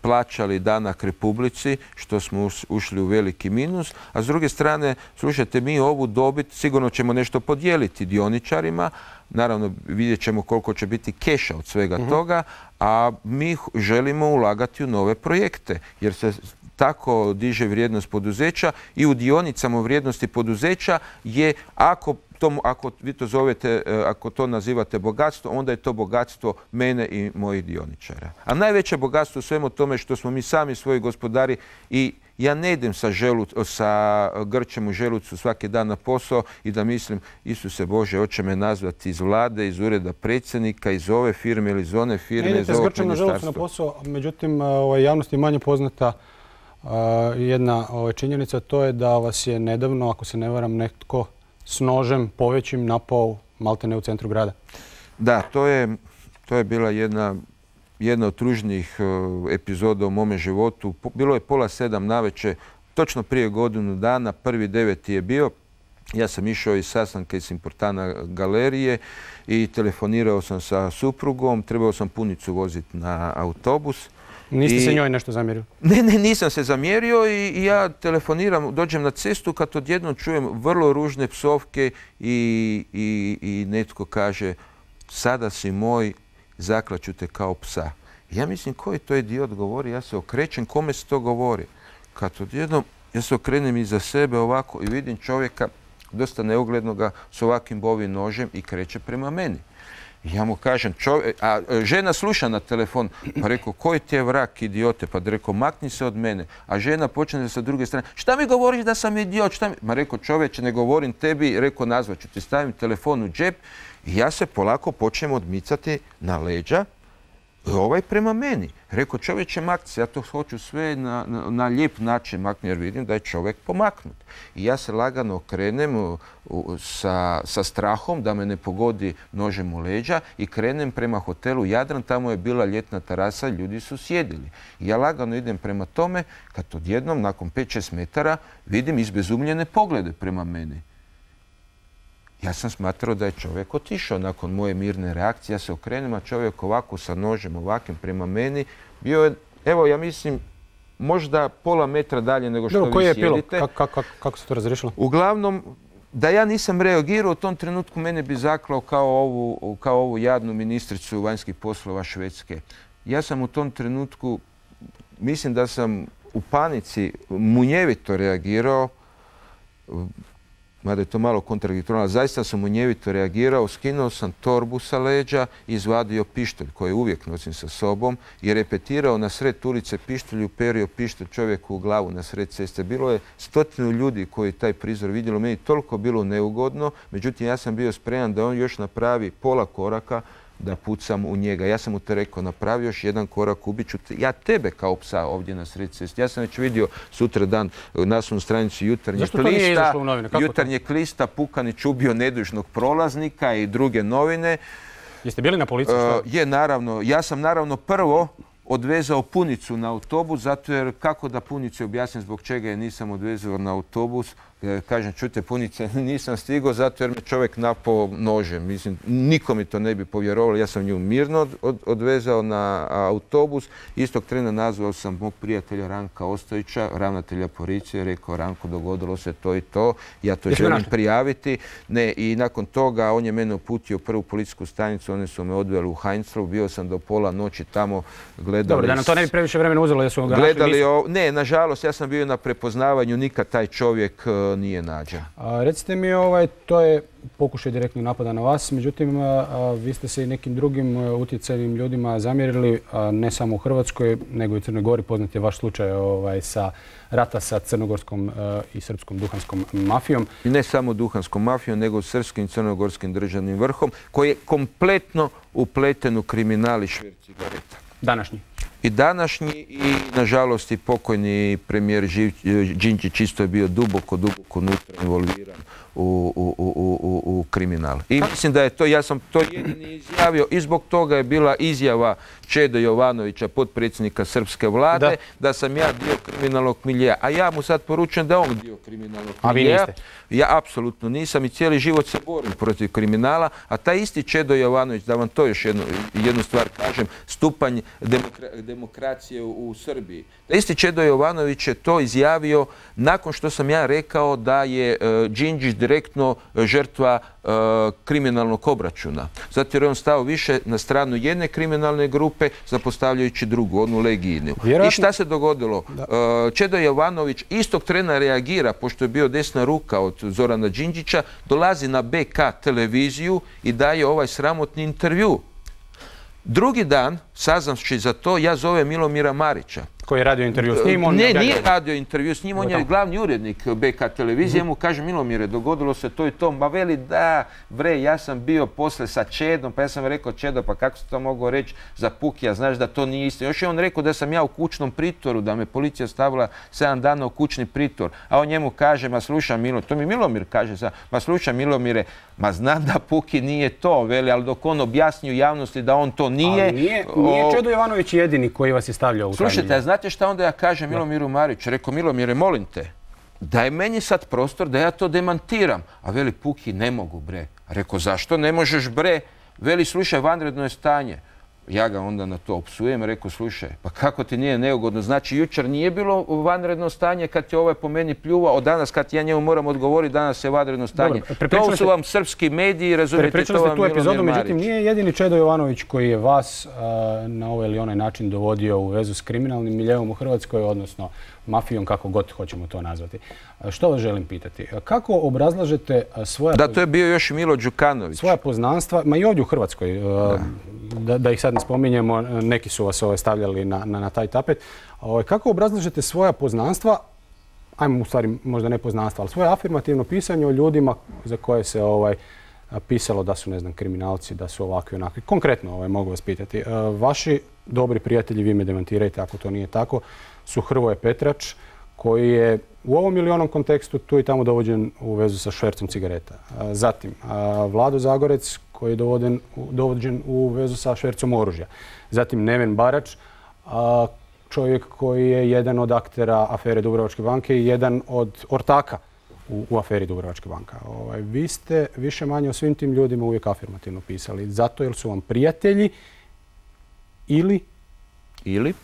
plaćali danak Republici, što smo ušli u veliki minus, a s druge strane, slušajte, mi ovu dobit sigurno ćemo nešto podijeliti dioničarima. Naravno, vidjet ćemo koliko će biti keša od svega uh-huh. toga, a mi želimo ulagati u nove projekte, jer se tako diže vrijednost poduzeća i u dionicama vrijednosti poduzeća je, ako, to, ako vi to zovete, ako to nazivate bogatstvo, onda je to bogatstvo mene i mojih dioničara. A najveće bogatstvo u svemu tome što smo mi sami svoji gospodari i ja ne idem sa, želuc, sa grčem u želucu svaki dan na posao i da mislim, Isuse Bože, hoće me nazvati iz vlade, iz ureda predsjednika, iz ove firme ili iz one firme, ne iz ovog ministarstva. Ne idete s grčem na želucu na posao, međutim, ovaj, javnosti je manje poznata uh, jedna ovaj, činjenica, to je da vas je nedavno, ako se ne varam, netko s nožem povećim napao maltene u centru grada. Da, to je, to je bila jedna... jedna od tužnijih epizoda u mome životu. Bilo je pola sedam navečer, točno prije godinu dana, prvi deveti je bio. Ja sam išao iz sastanka iz Importana galerije i telefonirao sam sa suprugom. Trebao sam punicu voziti na autobus. Niste I... se njoj nešto zamjerio? Ne, ne, nisam se zamjerio i, i ja telefoniram, dođem na cestu kad odjednom čujem vrlo ružne psovke i, i, i netko kaže sada si moj, zaklaću te kao psa. Ja mislim, koji to idiot govori, ja se okrećem, kome se to govori? Kad odjednom, ja se okrenem iza sebe ovako i vidim čovjeka, dosta neuglednoga, s ovakvim bovim nožem i kreće prema meni. Ja mu kažem, čovjek, a žena sluša na telefon, pa rekao, koji ti je vrak, idiote? Pa rekao, makni se od mene. A žena počne sa druge strane, šta mi govoriš da sam idiot? Šta mi... Ma rekao, čovječe, ne govorim tebi, rekao, nazvat ću ti, stavim telefon u džep i ja se polako počnem odmicati na leđa, ovaj prema meni. Rekao, čovječe, makni se, ja to hoću sve na, na, na lijep način maknuti, jer vidim da je čovjek pomaknut. I ja se lagano okrenem u, u, sa, sa strahom da me ne pogodi nožem u leđa i krenem prema hotelu Jadran, tamo je bila ljetna terasa, ljudi su sjedili. I ja lagano idem prema tome, kad odjednom, nakon pet šest metara, vidim izbezumljene poglede prema meni. Ja sam smatrao da je čovjek otišao nakon moje mirne reakcije. Ja se okrenem, a čovjek ovako sa nožem, ovakvim prema meni, bio je, evo ja mislim, možda pola metra dalje nego što Dobro, vi koji je sjedite. Epilog? Kako, kako, kako se to razriješilo? Uglavnom, da ja nisam reagirao u tom trenutku, mene bi zaklao kao ovu, kao ovu jadnu ministricu vanjskih poslova Švedske. Ja sam u tom trenutku, mislim da sam u panici munjevito reagirao, mada je to malo kontradiktorno, zaista sam munjevito reagirao, skinuo sam torbu sa leđa i izvadio pištolj koji uvijek nosim sa sobom i repetirao na sred ulice pištolj, uperio pištolj čovjeku u glavu na sred ceste. Bilo je stotinu ljudi koji taj prizor vidjelo, meni toliko bilo neugodno, međutim ja sam bio spreman da on još napravi pola koraka da pucam u njega. Ja sam mu te rekao, napravi još jedan korak, ubit ću te. Ja tebe kao psa ovdje na sred cesti. Ja sam već vidio sutra dan na naslovnoj stranici Jutarnjeg lista. Jutarnjeg lista, Pukanić ubio nedužnog prolaznika i druge novine. Jeste bili na policiji? Uh, je, naravno. Ja sam naravno prvo odvezao punicu na autobus, zato jer kako da punici objasnim zbog čega je nisam odvezao na autobus, kažem, čujte punice, nisam stigao zato jer me čovjek napao nožem. Mislim, niko mi to ne bi povjerovalo. Ja sam nju mirno od, odvezao na autobus. Istog trena nazvao sam mog prijatelja Ranka Ostojića, ravnatelja policije, rekao Ranko, dogodilo se to i to. Ja to Jesmo želim našli? prijaviti. Ne, i nakon toga on je mene uputio u prvu policijsku stanicu, oni su me odveli u Heinzlu, bio sam do pola noći tamo, gledali... Dobro, da nam to ne bi previše vremena uzelo, jesu ga našli? Gledali, o, ne, nažalost, ja sam bio na prepoznavanju, nikad taj čovjek uh, nije nađen. A, recite mi, ovaj, to je pokušaj direktnog napada na vas, međutim, a, a, vi ste se i nekim drugim a, utjecajnim ljudima zamjerili, a, ne samo u Hrvatskoj, nego i u Crnoj Gori. Poznat je vaš slučaj ovaj, sa rata sa crnogorskom a, i srpskom duhanskom mafijom. I ne samo duhanskom mafijom, nego srpskim i crnogorskim državnim vrhom, koji je kompletno upleten u kriminal i šverc cigareta. Današnji? I današnji i, nažalost, i pokojni premijer Đinđić isto je bio duboko, duboko unutra involviran u, u, u, u, u kriminal. I mislim da je to, ja sam to jedini izjavio i zbog toga je bila izjava Čede Jovanovića, potpredsjednika srpske vlade, da, da sam ja dio kriminalnog miljeja. A ja mu sad poručujem da je on dio kriminalnog miljeja. A vi niste? Ja apsolutno nisam i cijeli život se borim protiv kriminala, a taj isti Čedo Jovanović, da vam to još jednu, jednu stvar kažem, stupanj demokra, demokracije u, u Srbiji. Taj isti Čedo Jovanović je to izjavio nakon što sam ja rekao da je uh, Đinđić direktno žrtva uh, kriminalnog obračuna. Zato jer je on stao više na stranu jedne kriminalne grupe, zapostavljajući drugu, onu Legijinu. Vjerojatno... I šta se dogodilo? Uh, Čedo Jovanović istog trena reagira, pošto je bio desna ruka od Zorana Đinđića, dolazi na B K televiziju i daje ovaj sramotni intervju. Drugi dan, saznavši za to, ja zovem Milomira Marića. Koji je radio intervju s njim? On ne, nije radio intervju s njim, on je glavni urednik B K televizije. Mu kaže, Milomire, dogodilo se to i to. Ma veli, da, bre, ja sam bio posle sa Čedom, pa ja sam rekao, Čedo, pa kako se to mogao reći za Pukija, znaš da to nije isto. Još je on rekao da sam ja u kućnom pritvoru, da me policija stavila sedam dana u kućni pritvor. A on njemu kaže, ma slušaj, Milo, to mi Milomir kaže, sa, ma slušaj, Milomire, ma znam da Puki nije to, veli, ali dok on objasni u javnosti da on to nije... Ali nije, nije Čedo Jovanović jedini koji vas je stavljao u taj milje. Slušajte, znate šta onda ja kažem Milomiru Mariću? Rekao, Milomire, molim te, daj meni sad prostor da ja to demantiram. A veli, Puki, ne mogu, bre. Rekao, zašto ne možeš, bre? Veli, slušaj, vanredno je stanje. Ja ga onda na to opsujem, rekao, slušaj, pa kako ti nije neugodno? Znači, jučer nije bilo vanredno stanje kad je ovaj po meni pljuvao, od danas kad ja njemu moram odgovoriti, danas je vanredno stanje. Dobro, to su vam srpski mediji, razumijete, to vam Milomir epizodu, Marić. Međutim, nije jedini Čedo Jovanović koji je vas a, na ovaj ili onaj način dovodio u vezu s kriminalnim miljeom u Hrvatskoj, odnosno mafijom, kako god hoćemo to nazvati. A, što vas želim pitati? Kako obrazlažete svoja... Da, to je bio još i Milo Đukanović. Svoja poznanstva, ma i ovdje u Hrvatskoj, da, da, da ih sad ne spominjemo, neki su vas ovaj, stavljali na, na, na taj tapet. Ovaj, kako obrazlažete svoja poznanstva, ajmo u stvari možda ne poznanstva, ali svoje afirmativno pisanje o ljudima za koje se ovaj, pisalo da su, ne znam, kriminalci, da su ovakvi, onakvi. Konkretno ovaj, mogu vas pitati. Vaši dobri prijatelji, vi me demantirajte ako to nije tako, su Hrvoje Petrač, koji je u ovom ili onom kontekstu tu i tamo dovođen u vezu sa švercom cigareta. Zatim, Vlado Zagorec, koji je dovođen, dovođen u vezu sa švercom oružja. Zatim, Neven Barač, čovjek koji je jedan od aktera afere Dubrovačke banke i jedan od ortaka u, u aferi Dubrovačke banka. Ovaj, vi ste više manje o svim tim ljudima uvijek afirmativno pisali. Zato jer su vam prijatelji ili... Ili...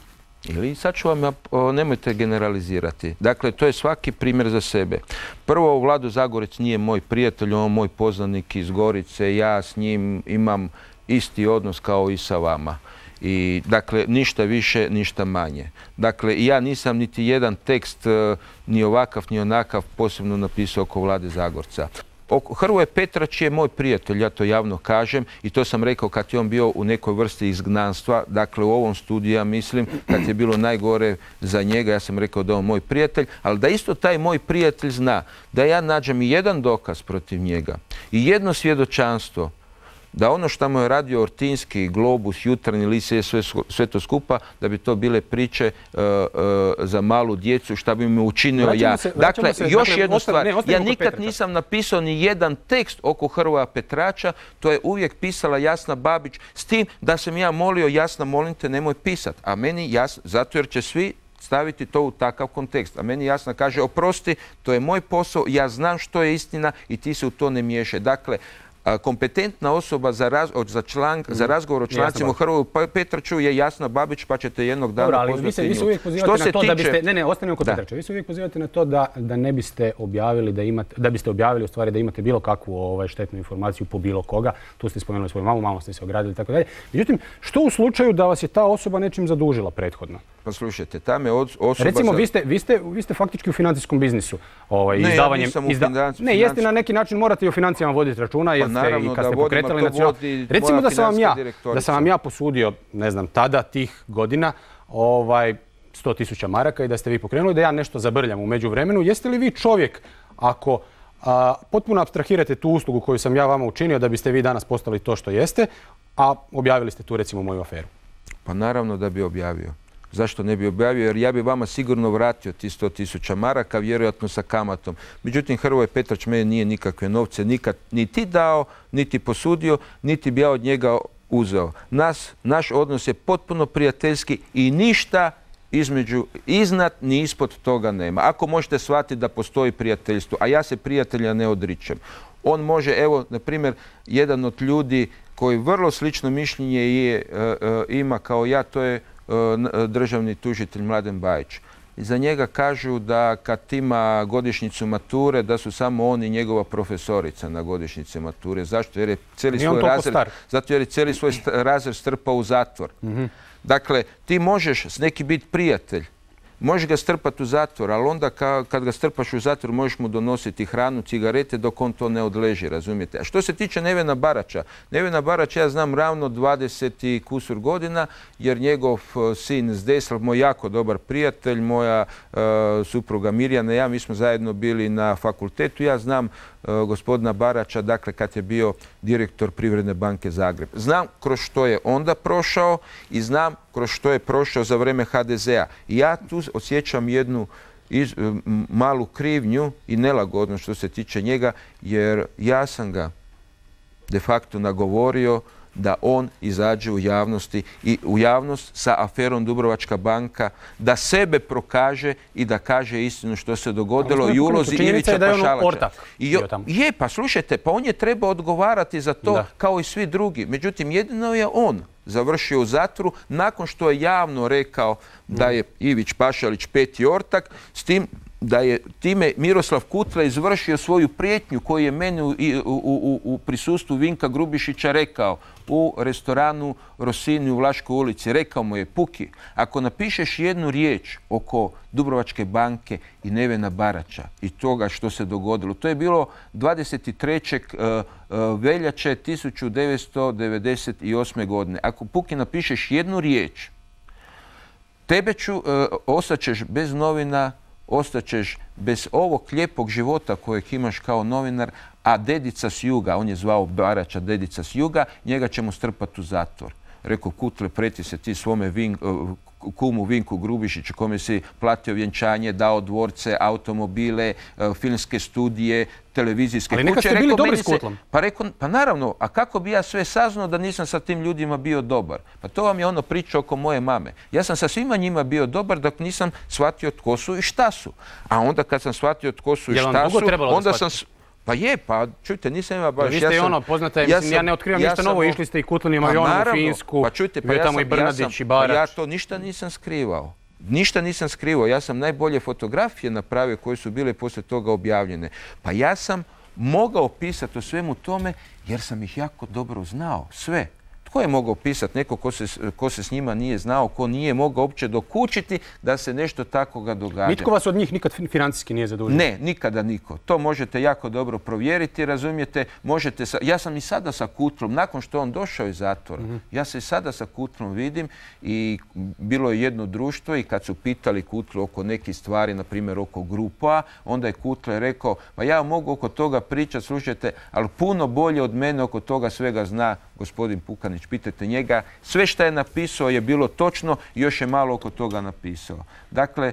Ili sad ću vam, nemojte generalizirati. Dakle, to je svaki primjer za sebe. Prvo, Vlado Zagorec nije moj prijatelj, on je moj poznanik iz Gorice. Ja s njim imam isti odnos kao i sa vama. I, dakle, ništa više, ništa manje. Dakle, ja nisam niti jedan tekst, ni ovakav, ni onakav, posebno napisao oko Vlade Zagorca. Hrvoje Petrač je moj prijatelj, ja to javno kažem i to sam rekao kad je on bio u nekoj vrsti izgnanstva, dakle u ovom studiju ja mislim kad je bilo najgore za njega, ja sam rekao da je on moj prijatelj, ali da isto taj moj prijatelj zna da ja nađem i jedan dokaz protiv njega i jedno svjedočanstvo da ono što mu je radio Ortinski, Globus, Jutarnji list, sve, sve to skupa, da bi to bile priče uh, uh, za malu djecu, šta bi me učinio ja. Se, dakle, se, još dakle, jednu ostane, stvar, ne, ja nikad Petrača. nisam napisao ni jedan tekst oko Hrvoja Petrača, to je uvijek pisala Jasna Babić, s tim da sam ja molio, Jasna, molim te, nemoj pisat. A meni jasno, zato jer će svi staviti to u takav kontekst. A meni jasno kaže, oprosti, to je moj posao, ja znam što je istina i ti se u to ne miješaj. Dakle, kompetentna osoba za, raz, za, član, za razgovor o člancima u Hrvoju Petraču je Jasna Babić, pa ćete jednog dana Dobro, ali pozvati vi se, vi se nju. uvijek pozivate na to tiče... da biste, ne, ne, ostanemo kod Petrača. Vi se uvijek pozivate na to da, da ne biste objavili, da imate, da biste objavili u stvari da imate bilo kakvu ovaj, štetnu informaciju po bilo koga. Tu ste spomenuli svoju mamu, malo ste se ogradili i tako dalje. Međutim, što u slučaju da vas je ta osoba nečim zadužila prethodno? Pa slušajte, tam je osoba... Recimo, za... vi, ste, vi, ste, vi ste faktički u financijskom biznisu. Ovaj, ne, izdavanjem, ja nisam u izda... financi... Ne, jeste na neki način morate i o financijama voditi računa, jer pa, ste i kad ste pokretali nacional... Recimo da sam vam ja, da sam vam ja posudio, ne znam, tada tih godina, ovaj, sto tisuća maraka i da ste vi pokrenuli, da ja nešto zabrljam u međuvremenu. Jeste li vi čovjek, ako a, potpuno apstrahirate tu uslugu koju sam ja vama učinio da biste vi danas postali to što jeste, a objavili ste tu recimo moju aferu? Pa naravno da bi objavio. Zašto ne bi objavio? Jer ja bi vama sigurno vratio ti sto tisuća maraka, vjerojatno sa kamatom. Međutim, Hrvoje Petrač meni nije nikakve novce nikad niti dao, niti posudio, niti bi ja od njega uzeo. Nas, naš odnos je potpuno prijateljski i ništa između, iznad ni ispod toga nema. Ako možete shvatiti da postoji prijateljstvo, a ja se prijatelja ne odričem. On može, evo, na primjer, jedan od ljudi koji vrlo slično mišljenje je, e, e, ima kao ja, to je državni tužitelj Mladen Bajić. Za njega kažu da kad ima godišnjicu mature, da su samo on i njegova profesorica na godišnjice mature. Zašto? Jer je cijeli svoj razred, zato jer je cijeli svoj razred strpao u zatvor. Mm-hmm. Dakle, ti možeš s neki biti prijatelj, možeš ga strpati u zatvor, ali onda ka, kad ga strpaš u zatvor možeš mu donositi hranu, cigarete dok on to ne odleži, razumijete? A što se tiče Nevena Barača, Nevena Barača ja znam ravno dvadeset i kusur godina, jer njegov sin Zdesl, moj jako dobar prijatelj, moja uh, supruga Mirjana, ja, mi smo zajedno bili na fakultetu, ja znam uh, gospodina Barača, dakle kad je bio direktor Privredne banke Zagreb. Znam kroz što je onda prošao i znam kroz što je prošao za vrijeme ha de zea. I ja tu osjećam jednu iz, malu krivnju i nelagodnost što se tiče njega, jer ja sam ga de facto nagovorio da on izađe u javnosti i u javnost sa aferom Dubrovačka banka, da sebe prokaže i da kaže istinu što se dogodilo i ulozi Ivića Pašalača. Je, pa slušajte, pa on je trebao odgovarati za to da. Kao i svi drugi. Međutim, jedino je on završio u zatvoru nakon što je javno rekao da je Ivić Pašalić peti ortak, s tim da je time Miroslav Kutle izvršio svoju prijetnju koju je meni u, u, u, u prisustvu Vinka Grubišića rekao u restoranu Rossini u Vlaškoj ulici. Rekao mu je: Puki, ako napišeš jednu riječ oko Dubrovačke banke i Nevena Barača i toga što se dogodilo, to je bilo dvadeset trećeg veljače tisuću devetsto devedeset osme. godine. Ako, Puki, napišeš jednu riječ, tebe ću, ostaćeš bez novina, ostaćeš bez ovog lijepog života kojeg imaš kao novinar, a dedica s juga, on je zvao Barača dedica s juga, njega ćemo strpati u zatvor. Rekao Kutle, preti se ti svome vin, kumu Vinku Grubišiću, kome si platio vjenčanje, dao dvorce, automobile, filmske studije, televizijske kuće. Ali neka ste bili dobri s Kutlom. Pa, rekao, pa naravno, a kako bi ja sve saznao da nisam sa tim ljudima bio dobar? Pa to vam je ono priča oko moje mame. Ja sam sa svima njima bio dobar dok nisam shvatio tko su i šta su. A onda kad sam shvatio tko su i šta su, onda sam... Pa je, pa čujte, nisam ima baš... Vi ste i ono, poznate, ja, sam, ja ne otkrivam ništa novo, išli ste i Kutlinim avionom u Finsku, pa čujte, pa ja tamo sam, i Brnadić ja sam, i Barač. Pa ja to ništa nisam skrivao. Ništa nisam skrivao. Ja sam najbolje fotografije napravio koje su bile poslije toga objavljene. Pa ja sam mogao pisati o svemu tome jer sam ih jako dobro znao. Sve. Tko je mogao pisati? Neko ko se, ko se s njima nije znao, ko nije mogao uopće dokučiti da se nešto takoga događa. Nitko vas od njih nikad financijski nije zadužio? Ne, nikada niko. To možete jako dobro provjeriti, razumijete. Možete sa, ja sam i sada sa Kutlom, nakon što on došao iz zatvora, mm-hmm. ja se i sada sa Kutlom vidim i bilo je jedno društvo i kad su pitali Kutlu oko nekih stvari, na primjer oko grupa, onda je Kutle rekao, pa ja mogu oko toga pričati, slušajte, ali puno bolje od mene oko toga svega zna gospodin Pukanić. Pitajte njega, sve što je napisao je bilo točno i još je malo oko toga napisao. Dakle,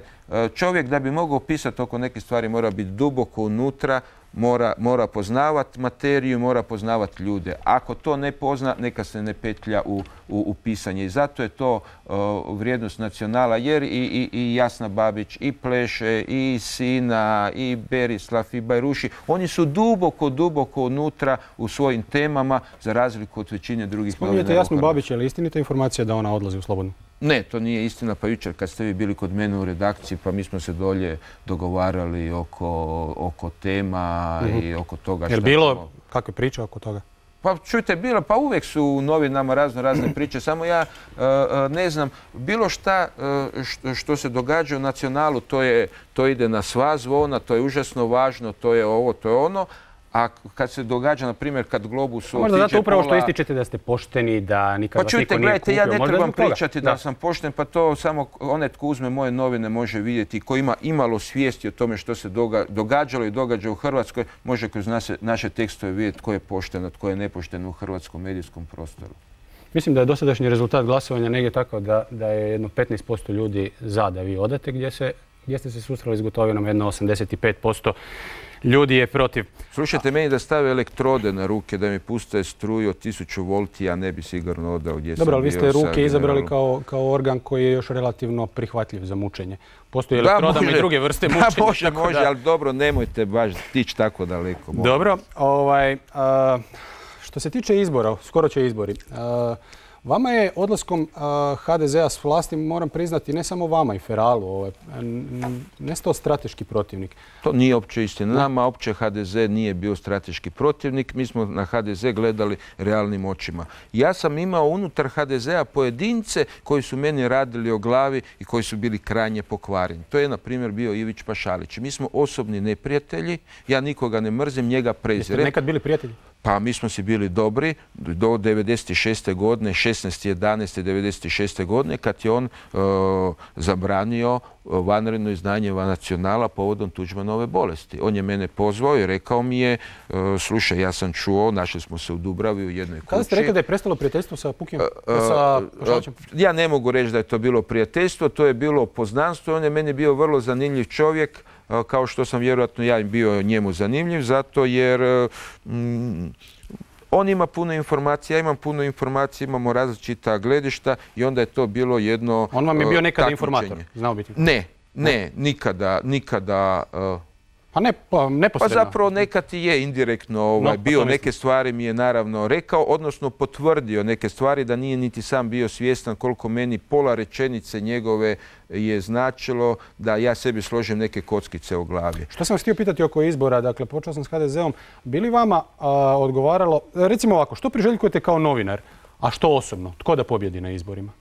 čovjek da bi mogao pisati oko neke stvari mora biti duboko unutra, mora, mora poznavati materiju, mora poznavati ljude. Ako to ne pozna, neka se ne petlja u, u, u pisanje. I zato je to uh, vrijednost Nacionala, jer i, i, i Jasna Babić, i Pleše, i Sina, i Berislav, i Bajruši, oni su duboko, duboko unutra u svojim temama, za razliku od većine drugih novinara. Spominjete Jasnu Babić, je li istinita informacija da ona odlazi u Slobodnu? Ne, to nije istina. Pa jučer kad ste vi bili kod mene u redakciji, pa mi smo se dolje dogovarali oko, oko tema mm-hmm. i oko toga što... Je li bilo ćemo... kakve priče oko toga? Pa čujte, bilo, pa uvijek su u novinama razno razne priče, samo ja uh, ne znam, bilo šta uh, što, što se događa u Nacionalu, to, je, to ide na sva zvona, to je užasno važno, to je ovo, to je ono. A kad se događa, na primjer, kad Globus otiđe pola... Možda zato upravo što ističete da ste pošteni, da nikad vas niko nije kupio. Pa čujte, gledajte, ja ne trebam pričati da sam pošten, pa to samo onaj tko uzme moje novine može vidjeti, ko ima imalo svijesti o tome što se događalo i događa u Hrvatskoj, može kroz naše tekstove vidjeti tko je pošten, a tko je nepošten u hrvatskom medijskom prostoru. Mislim da je dosadašnji rezultat glasovanja negdje tako da, da je jedno petnaest posto ljudi za da vi odete, gdje, se, gdje ste se susreli s Gotovinom, jedno osamdeset pet posto ljudi je protiv. Slušajte, meni da stave elektrode na ruke, da mi puste struju od tisuću volti, ja ne bi sigurno odao gdje sam bio. Dobro, ali vi ste ruke izabrali kao, kao organ koji je još relativno prihvatljiv za mučenje. Postoji elektrodama i druge vrste mučenja. Da, može, može, ali dobro, nemojte baš tići tako daleko. Molim. Dobro, ovaj, a, što se tiče izbora, skoro će izbori. A, Vama je odlaskom ha de zea s vlasti, moram priznati, ne samo vama i Feralu, ovaj, nestao strateški protivnik. To nije opće istina. Nama opće ha de ze nije bio strateški protivnik. Mi smo na ha de ze gledali realnim očima. Ja sam imao unutar ha de zea pojedince koji su meni radili o glavi i koji su bili krajnje pokvareni. To je, na primjer, bio Ivić Pašalić. Mi smo osobni neprijatelji. Ja nikoga ne mrzim, njega prezirem. Jeste nekad bili prijatelji? Pa mi smo si bili dobri do devedeset šeste godine, šesnaeste jedanaeste devedeset šeste godine, kad je on uh, zabranio vanredno izdanje Nacionala povodom Tuđmanove bolesti. On je mene pozvao i rekao mi je, uh, slušaj, ja sam čuo, našli smo se u Dubravi u jednoj kući. Kada ste rekli da je prestalo prijateljstvo sa Pukim, uh, sa Pašalićem? Ja ne mogu reći da je to bilo prijateljstvo, to je bilo poznanstvo. On je meni bio vrlo zanimljiv čovjek, kao što sam vjerojatno ja bio njemu zanimljiv, zato jer mm, on ima puno informacija, ja imam puno informacija, imamo različita gledišta i onda je to bilo jedno... On vam je bio nekada informator, znao biti? Ne, ne, nikada, nikada... Uh, Pa ne, pa neposredno. Pa zapravo nekad i je indirektno ovaj, no, bio, neke stvari mi je naravno rekao, odnosno potvrdio neke stvari da nije niti sam bio svjestan koliko meni pola rečenice njegove je značilo da ja sebi složim neke kockice u glavi. Što sam vas htio pitati oko izbora, dakle počeo sam s ha de zeom, bi li vama a, odgovaralo, recimo ovako, što priželjkujete kao novinar, a što osobno, tko da pobjedi na izborima?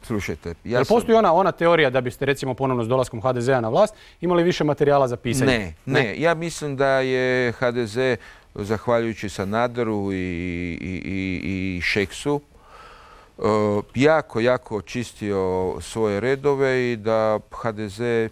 Slušajte, ja Jel postoji ona, ona teorija da biste recimo ponovno s dolaskom ha de zea na vlast imali više materijala za pisanje? Ne, ne, ne. Ja mislim da je ha de ze, zahvaljujući Sanaderu i, i, i, i Šeksu, uh, jako, jako očistio svoje redove i da ha de ze,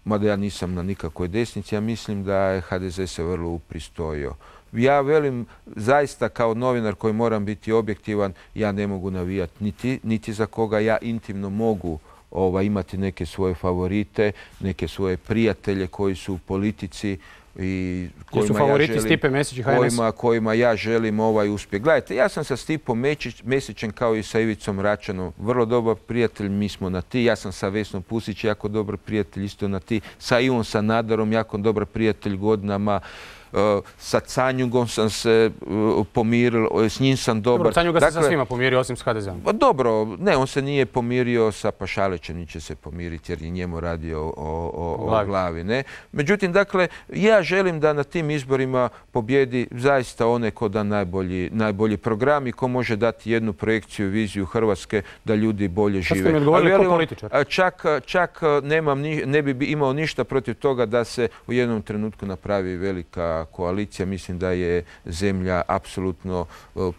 mada ja nisam na nikakvoj desnici, ja mislim da je ha de ze se vrlo upristojio. Ja velim, zaista kao novinar koji moram biti objektivan, ja ne mogu navijati niti, niti za koga. Ja intimno mogu ovaj, imati neke svoje favorite, neke svoje prijatelje koji su u politici i kojima, su favoriti ja želim, Stipe Mesić i ha en es? Kojima, kojima ja želim ovaj uspjeh. Gledajte, ja sam sa Stipom Mesićem kao i sa Ivicom Račanom vrlo dobar prijatelj, mi smo na ti. Ja sam sa Vesnom Pusić jako dobar prijatelj, isto na ti. Sa Ivom Sanaderom jako dobar prijatelj godinama. Uh, sa Canjugom sam se uh, pomiril, s njim sam dobar. Dobro, Canjuga dakle, se sa svima pomirio osim s ha de zeom. Dobro, ne, on se nije pomirio sa Pašalićem, ni će se pomiriti jer je njemu radio o, o, o glavi. glavi ne? Međutim, dakle, ja želim da na tim izborima pobjedi zaista one ko da najbolji, najbolji program i ko može dati jednu projekciju, viziju Hrvatske da ljudi bolje žive. Šta ste mi odgovorili kao političar? Čak, čak nemam ni, ne bi imao ništa protiv toga da se u jednom trenutku napravi velika koalicija. Mislim da je zemlja apsolutno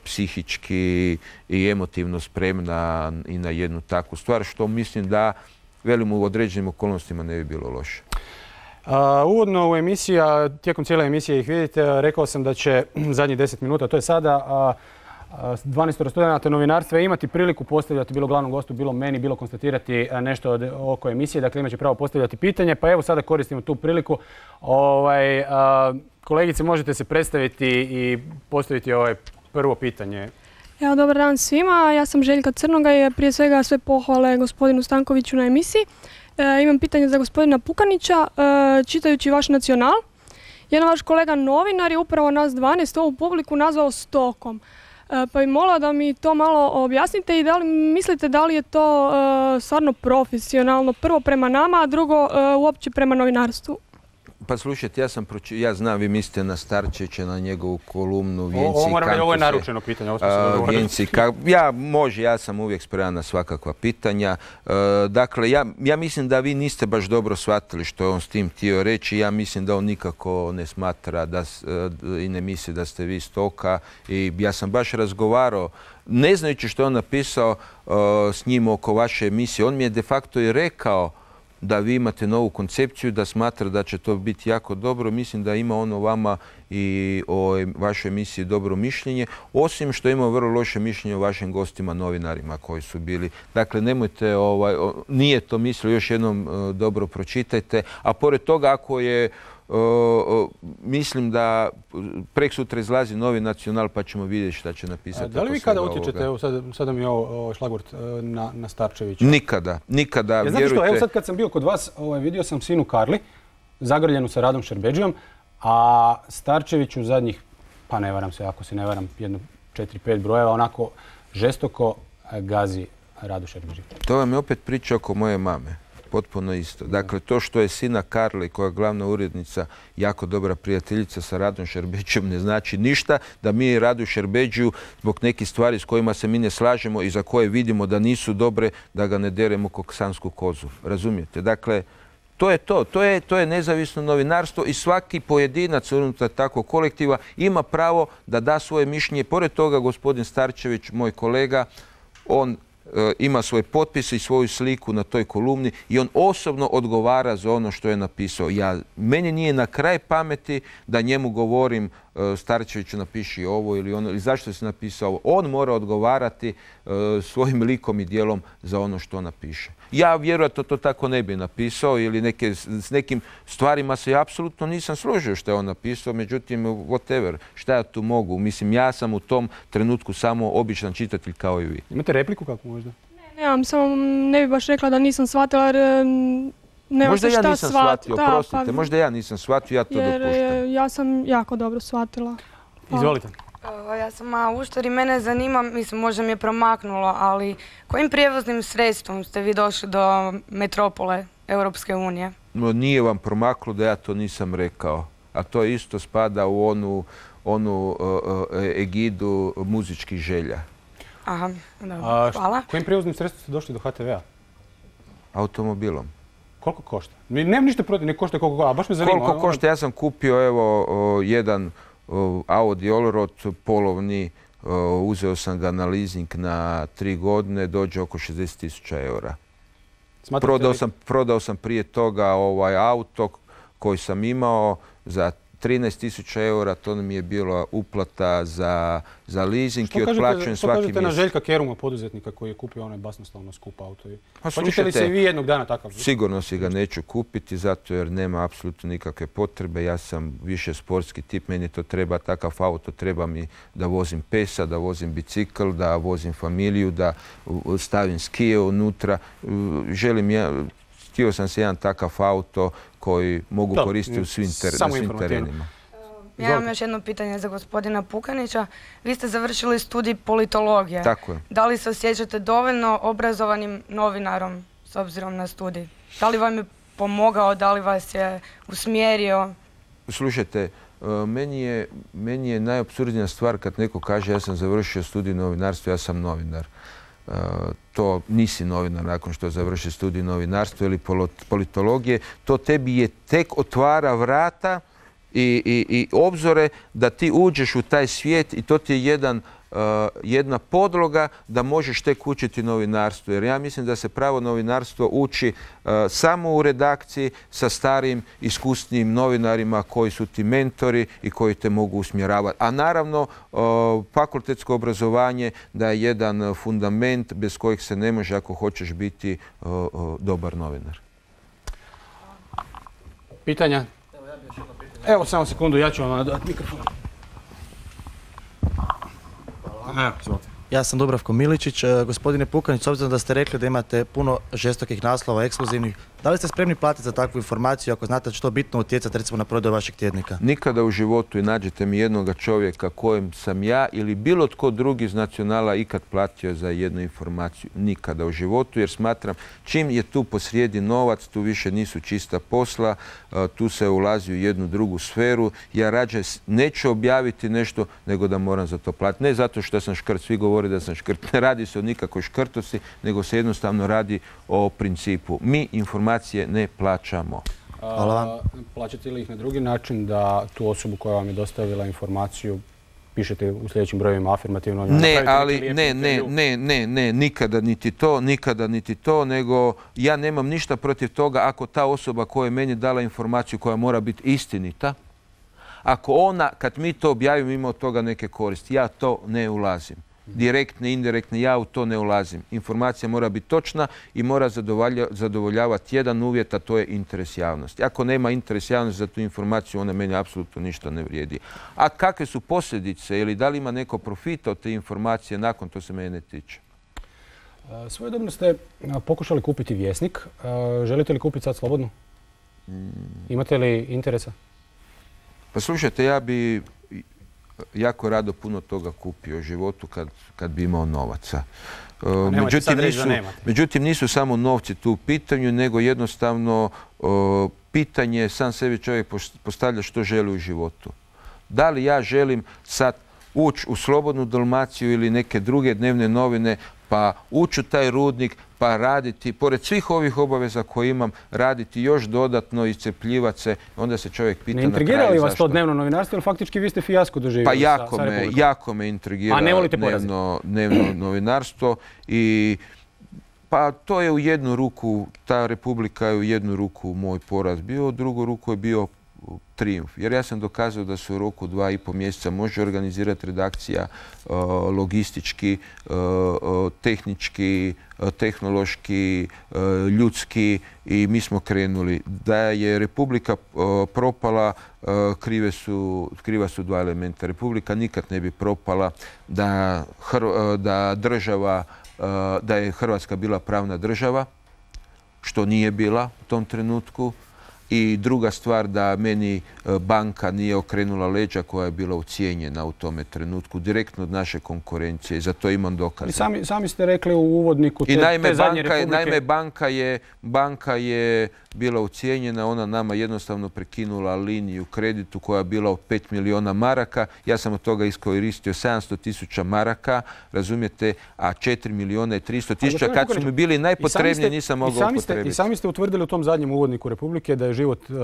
psihički i emotivno spremna i na jednu takvu stvar, što mislim da, velim, u određenim okolnostima ne bi bilo loše. Uh, uvodno u emisiji, tijekom cijele emisije ih vidite, rekao sam da će zadnjih deset minuta, to je sada, uh, dvanaest studenata novinarstva imati priliku postavljati bilo glavnom gostu, bilo meni, bilo konstatirati nešto oko emisije. Dakle, imat će pravo postavljati pitanje. Pa evo sada koristimo tu priliku. Ovaj, kolegice, možete se predstaviti i postaviti ovaj prvo pitanje. Evo, dobar dan svima. Ja sam Željka Crnoga i prije svega sve pohvale gospodinu Stankoviću na emisiji. E, imam pitanje za gospodina Pukanića. E, čitajući vaš Nacional, jedan vaš kolega novinar je upravo nas dvanaest ovu publiku nazvao stokom. E, pa bih molila da mi to malo objasnite i da li mislite da li je to e, stvarno profesionalno, prvo prema nama, a drugo e, uopće prema novinarstvu. Pa slušajte, ja sam proči... ja znam, vi mislite na Starčevića, na njegovu kolumnu Vijenci i Kampuse. Ovo, ovo je naručeno pitanje, ovo smo se dogovorili. Vijenci, ka... Ja, može, ja sam uvijek spreman na svakakva pitanja. E, dakle, ja, ja mislim da vi niste baš dobro shvatili što je on s tim htio reći. Ja mislim da on nikako ne smatra da, i ne misli da ste vi stoka. I ja sam baš razgovarao, ne znajući što je on napisao uh, s njim oko vaše emisije. On mi je de facto i rekao da vi imate novu koncepciju, da smatra da će to biti jako dobro. Mislim da ima ono vama i o vašoj emisiji dobro mišljenje, osim što ima vrlo loše mišljenje o vašim gostima, novinarima koji su bili. Dakle, nemojte, ovaj, nije to mislio, još jednom uh, dobro pročitajte. A pored toga, ako je Uh, uh, mislim da preksutra izlazi novi Nacional, pa ćemo vidjeti šta će napisati. A, da li vi kada utječete, evo sad, sada mi je ovo šlagvort, na, na Starčevića? Nikada, nikada, ja, vjerujte. Što, evo sad kad sam bio kod vas, ovaj, vidio sam Sinu Karli, zagrljenu sa Radom Šerbedžijom, a Starčević u zadnjih, pa ne varam se, ako se ne varam, jedno četiri pet brojeva, onako žestoko gazi Radu Šerbedžiju. To vam je opet priča oko moje mame. Potpuno isto. Dakle, to što je Sina Karli, koja je glavna urednica, jako dobra prijateljica sa Radom Šerbedžijom, ne znači ništa da mi Radu Šerbedžiju zbog nekih stvari s kojima se mi ne slažemo i za koje vidimo da nisu dobre, da ga ne deremo kog sansku kozu. Razumijete? Dakle, to je to. To je, to je nezavisno novinarstvo i svaki pojedinac unutar takvog kolektiva ima pravo da da svoje mišljenje. Pored toga, gospodin Starčević, moj kolega, on ima svoj potpis i svoju sliku na toj kolumni i on osobno odgovara za ono što je napisao. Ja, meni nije na kraj pameti da njemu govorim Starčeviću napiši ovo ili ono, ili zašto si napisao ovo. On mora odgovarati svojim likom i dijelom za ono što napiše. Ja vjerojatno to tako ne bi napisao ili neke, s nekim stvarima se ja apsolutno nisam složio što je on napisao, međutim, whatever, šta ja tu mogu? Mislim, ja sam u tom trenutku samo običan čitatelj kao i vi. Imate repliku kako možda? Ne, nemam, samo ne bi baš rekla da nisam shvatila jer nema se šta shvatiti. Možda ja nisam shvatio, oprostite, pa, možda ja nisam shvatio, ja to jer, dopuštam. Ja sam jako dobro shvatila. Pa. Izvolite. Ja sam Auštar i mene zanima, mislim možda mi je promaknulo, ali kojim prijevoznim sredstvom ste vi došli do metropole Europske unije? No, nije vam promaklo da ja to nisam rekao, a to isto spada u onu, onu uh, egidu muzičkih želja. Aha, dobro, hvala. Kojim prijevoznim sredstvom ste došli do H T V-a? Automobilom. Koliko košta? Nemam ništa protiv, ne košta koliko košta, a baš me zanima. Koliko košta? Ja sam kupio evo o, jedan o, Audi Allroad polovni, o, uzeo sam ga na leasing na tri godine, dođe oko šezdeset tisuća eura. Prodao sam, prodao sam prije toga ovaj auto koji sam imao za trinaest tisuća eura, to mi je bila uplata za, za leasing i otplaćujem svaki mjesec. Što kažete na Željka Keruma, poduzetnika koji je kupio onaj basnoslovno skup auto? Pa hoćete li se i vi jednog dana takav? Sigurno si ga neću kupiti, zato jer nema apsolutno nikakve potrebe. Ja sam više sportski tip, meni to treba takav auto, treba mi da vozim pesa, da vozim bicikl, da vozim familiju, da stavim skije unutra. Želim ja... Htio sam se jedan takav auto koji mogu da, koristiti u svim, ter svim terenima. Ja imam još jedno pitanje za gospodina Pukanića. Vi ste završili studij politologije. Tako je. Da li se osjećate dovoljno obrazovanim novinarom s obzirom na studij? Da li vam je pomogao, da li vas je usmjerio? Slušajte, meni je, meni je najapsurdnija stvar kad neko kaže ja sam završio studij novinarstva, ja sam novinar. Uh, to nisi novinar nakon što završi studij novinarstva ili politologije. To tebi je tek otvara vrata i, i, i obzore da ti uđeš u taj svijet i to ti je jedan jedna podloga da možeš tek učiti novinarstvo. Jer ja mislim da se pravo novinarstvo uči samo u redakciji sa starim, iskusnijim novinarima koji su ti mentori i koji te mogu usmjeravati. A naravno, fakultetsko obrazovanje da je jedan fundament bez kojeg se ne može ako hoćeš biti dobar novinar. Pitanja? Evo, samo sekundu, ja ću vam nadati mikrofon. Evo, izvolite. Ja sam Dubravko Miličić. Gospodine Pukanić, s obzirom da ste rekli da imate puno žestokih naslova, ekskluzivnih, da li ste spremni platiti za takvu informaciju ako znate da će to bitno utjecati recimo na prodaju vašeg tjednika? Nikada u životu i nađete mi jednoga čovjeka kojem sam ja ili bilo tko drugi iz Nacionala ikad platio za jednu informaciju. Nikada u životu, jer smatram čim je tu posrijedi novac, tu više nisu čista posla, tu se ulazi u jednu drugu sferu. Ja rađe neću objaviti nešto nego da moram za to platiti. Ne zato što sam škrt, svi govori da sam škrt. Ne radi se o nikakvoj škrtosti, nego se jednostavno radi o principu. Mi informacije ne plaćamo. Hvala vam. Plaćate li ih na drugi način da tu osobu koja vam je dostavila informaciju pišete u sljedećim brojevima afirmativno? Ne, ali ne, ne, ne, ne, ne, nikada niti to, nikada niti to, nego ja nemam ništa protiv toga ako ta osoba koja je meni dala informaciju koja mora biti istinita, ako ona, kad mi to objavimo, ima od toga neke koristi, ja to ne ulazim. Direktne, indirektne, ja u to ne ulazim. Informacija mora biti točna i mora zadovoljavati jedan uvjet, a to je interes javnosti. Ako nema interes javnosti za tu informaciju, ona meni apsolutno ništa ne vrijedi. A kakve su posljedice ili da li ima neko profita od te informacije, nakon to se mene ne tiče. Svojedobno ste pokušali kupiti Vjesnik. Želite li kupiti sad slobodno? Imate li interesa? Pa slušajte, ja bi jako rado puno toga kupio u životu kad, kad bi imao novaca. Međutim nisu, međutim, nisu samo novci tu u pitanju, nego jednostavno o, pitanje sam sebi čovjek postavlja što želi u životu. Da li ja želim sad ući u Slobodnu Dalmaciju ili neke druge dnevne novine, pa ući u taj rudnik, pa raditi, pored svih ovih obaveza koje imam, raditi još dodatno, iscrpljivati se, onda se čovjek pita na kraju zašto. Ne intrigira li vas to dnevno novinarstvo, ili faktički vi ste fijasko doživjeli? Pa jako sa, me, jako me intrigira dnevno, dnevno novinarstvo i pa to je u jednu ruku, ta Republika je u jednu ruku moj poraz bio, u drugu ruku je bio trijumf. Jer ja sam dokazao da se u roku dva i pol mjeseca može organizirati redakcija logistički, tehnički, tehnološki, ljudski i mi smo krenuli. Da je Republika propala, krive su, kriva su dva elementa. Republika nikad ne bi propala da, da država, da je Hrvatska bila pravna država, što nije bila u tom trenutku. I druga stvar, da meni banka nije okrenula leđa koja je bila ucijenjena u tome trenutku, direktno od naše konkurencije. Za to imam dokaze. Sami, sami ste rekli u uvodniku te, I naime, te zadnje banka, republike... naime banka, je, banka je bila ucijenjena, ona nama jednostavno prekinula liniju kreditu koja je bila od pet milijuna maraka. Ja sam od toga iskoristio sedamsto tisuća maraka, razumijete, a četiri milijuna i tristo tisuća. Kad su mi bili najpotrebniji nisam mogao upotrebiti. I sami ste utvrdili u tom zadnjem uvodniku Republike da je život uh,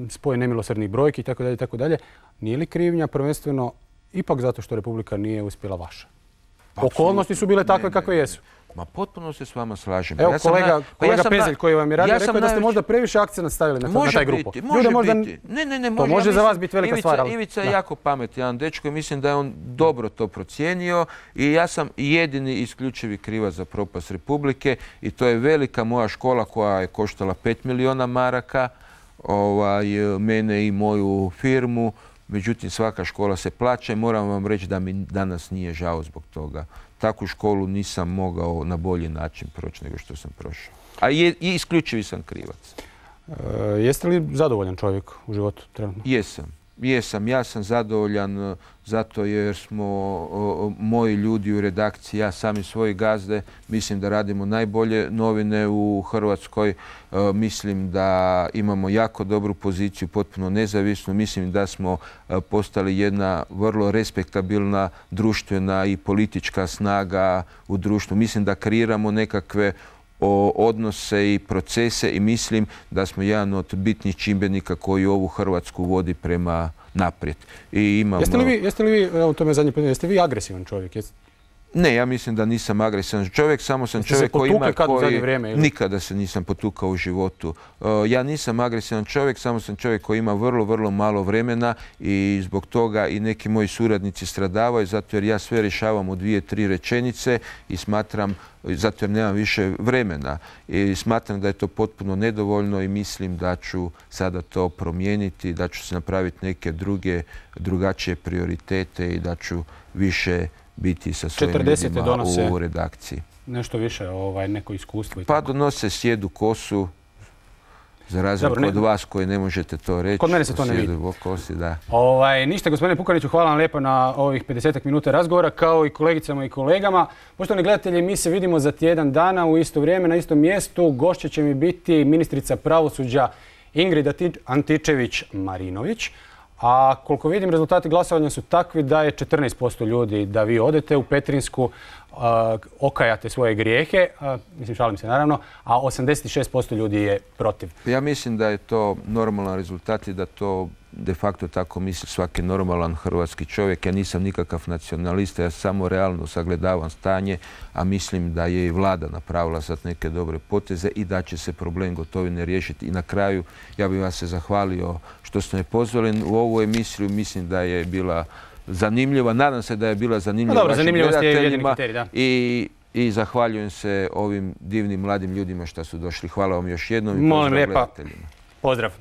spoj nemilosrdnih brojki i tako dalje, tako dalje. Nije li krivnja prvenstveno ipak zato što Republika nije uspjela vaša? Okolnosti su bile takve kakve jesu. Ma potpuno se s vama slažem. Evo ja kolega, na, kolega ja Pezelj koji vam je radio, ja rekao je da ste možda previše akcenat stavili na, na taj grupu. Može Ljude, možda, biti. Ne, ne, ne, može, to može ja za vas biti velika Ivica, stvar. Ali, Ivica je jako pametan dečko i mislim da je on dobro to procijenio i ja sam jedini isključivi krivac za propast Republike i to je velika moja škola koja je koštala pet milijuna maraka, ovaj, mene i moju firmu. Međutim, svaka škola se plaća i moram vam reći da mi danas nije žao zbog toga. Takvu školu nisam mogao na bolji način proći nego što sam prošao. A je, i isključivi sam krivac. E, jeste li zadovoljan čovjek u životu trenutno? Jesam. Jesam. Ja sam zadovoljan zato jer smo o, moji ljudi u redakciji, ja sami svoji gazde, mislim da radimo najbolje novine u Hrvatskoj. E, mislim da imamo jako dobru poziciju, potpuno nezavisnu. Mislim da smo e, postali jedna vrlo respektabilna društvena i politička snaga u društvu. Mislim da kreiramo nekakve o odnose i procese i mislim da smo jedan od bitnih čimbenika koji ovu Hrvatsku vodi prema naprijed. I imamo... Jeste li vi, jeste li vi, evo to me zadnje pitanje, jeste vi agresivan čovjek? Jeste... Ne, ja mislim da nisam agresivan čovjek, samo sam čovjek koji ima koji... Nikada se nisam potukao u životu. Ja nisam agresivan čovjek, samo sam čovjek koji ima vrlo, vrlo malo vremena i zbog toga i neki moji suradnici stradavaju, zato jer ja sve rješavam u dvije, tri rečenice i smatram, zato jer nemam više vremena. I smatram da je to potpuno nedovoljno i mislim da ću sada to promijeniti, da ću se napraviti neke druge, drugačije prioritete i da ću više biti sa svojim ljudima u redakciji. Nešto više, ovaj, neko iskustvo i Pa tako. donose sjedu kosu, za razliku od vas koji ne možete to reći. Kod mene se to ne vidi. Kosi, da. Ovaj, ništa, gospodine Pukaniću, hvala vam lijepo na ovih pedesetak minuta razgovora, kao i kolegicama i kolegama. Poštovani gledatelji, mi se vidimo za tjedan dana u isto vrijeme, na istom mjestu. Gošća će mi biti ministrica pravosuđa Ingrid Antičević-Marinović. A koliko vidim, rezultati glasovanja su takvi da je četrnaest posto ljudi da vi odete u Petrinjsku, uh, okajate svoje grijehe, uh, mislim šalim se naravno, a osamdeset šest posto ljudi je protiv. Ja mislim da je to normalan rezultat i da to de facto tako misli svaki normalan hrvatski čovjek. Ja nisam nikakav nacionalista, ja samo realno sagledavam stanje, a mislim da je i vlada napravila sad neke dobre poteze i da će se problem Gotovine riješiti. I na kraju ja bih vas se zahvalio što ste me pozvali u ovu emisiju. Mislim da je bila zanimljiva. Nadam se da je bila zanimljiva dobro, vašim gledateljima kriterij, i, i zahvaljujem se ovim divnim mladim ljudima što su došli. Hvala vam još jednom i Molim pozdrav lijepa. gledateljima. Pozdrav.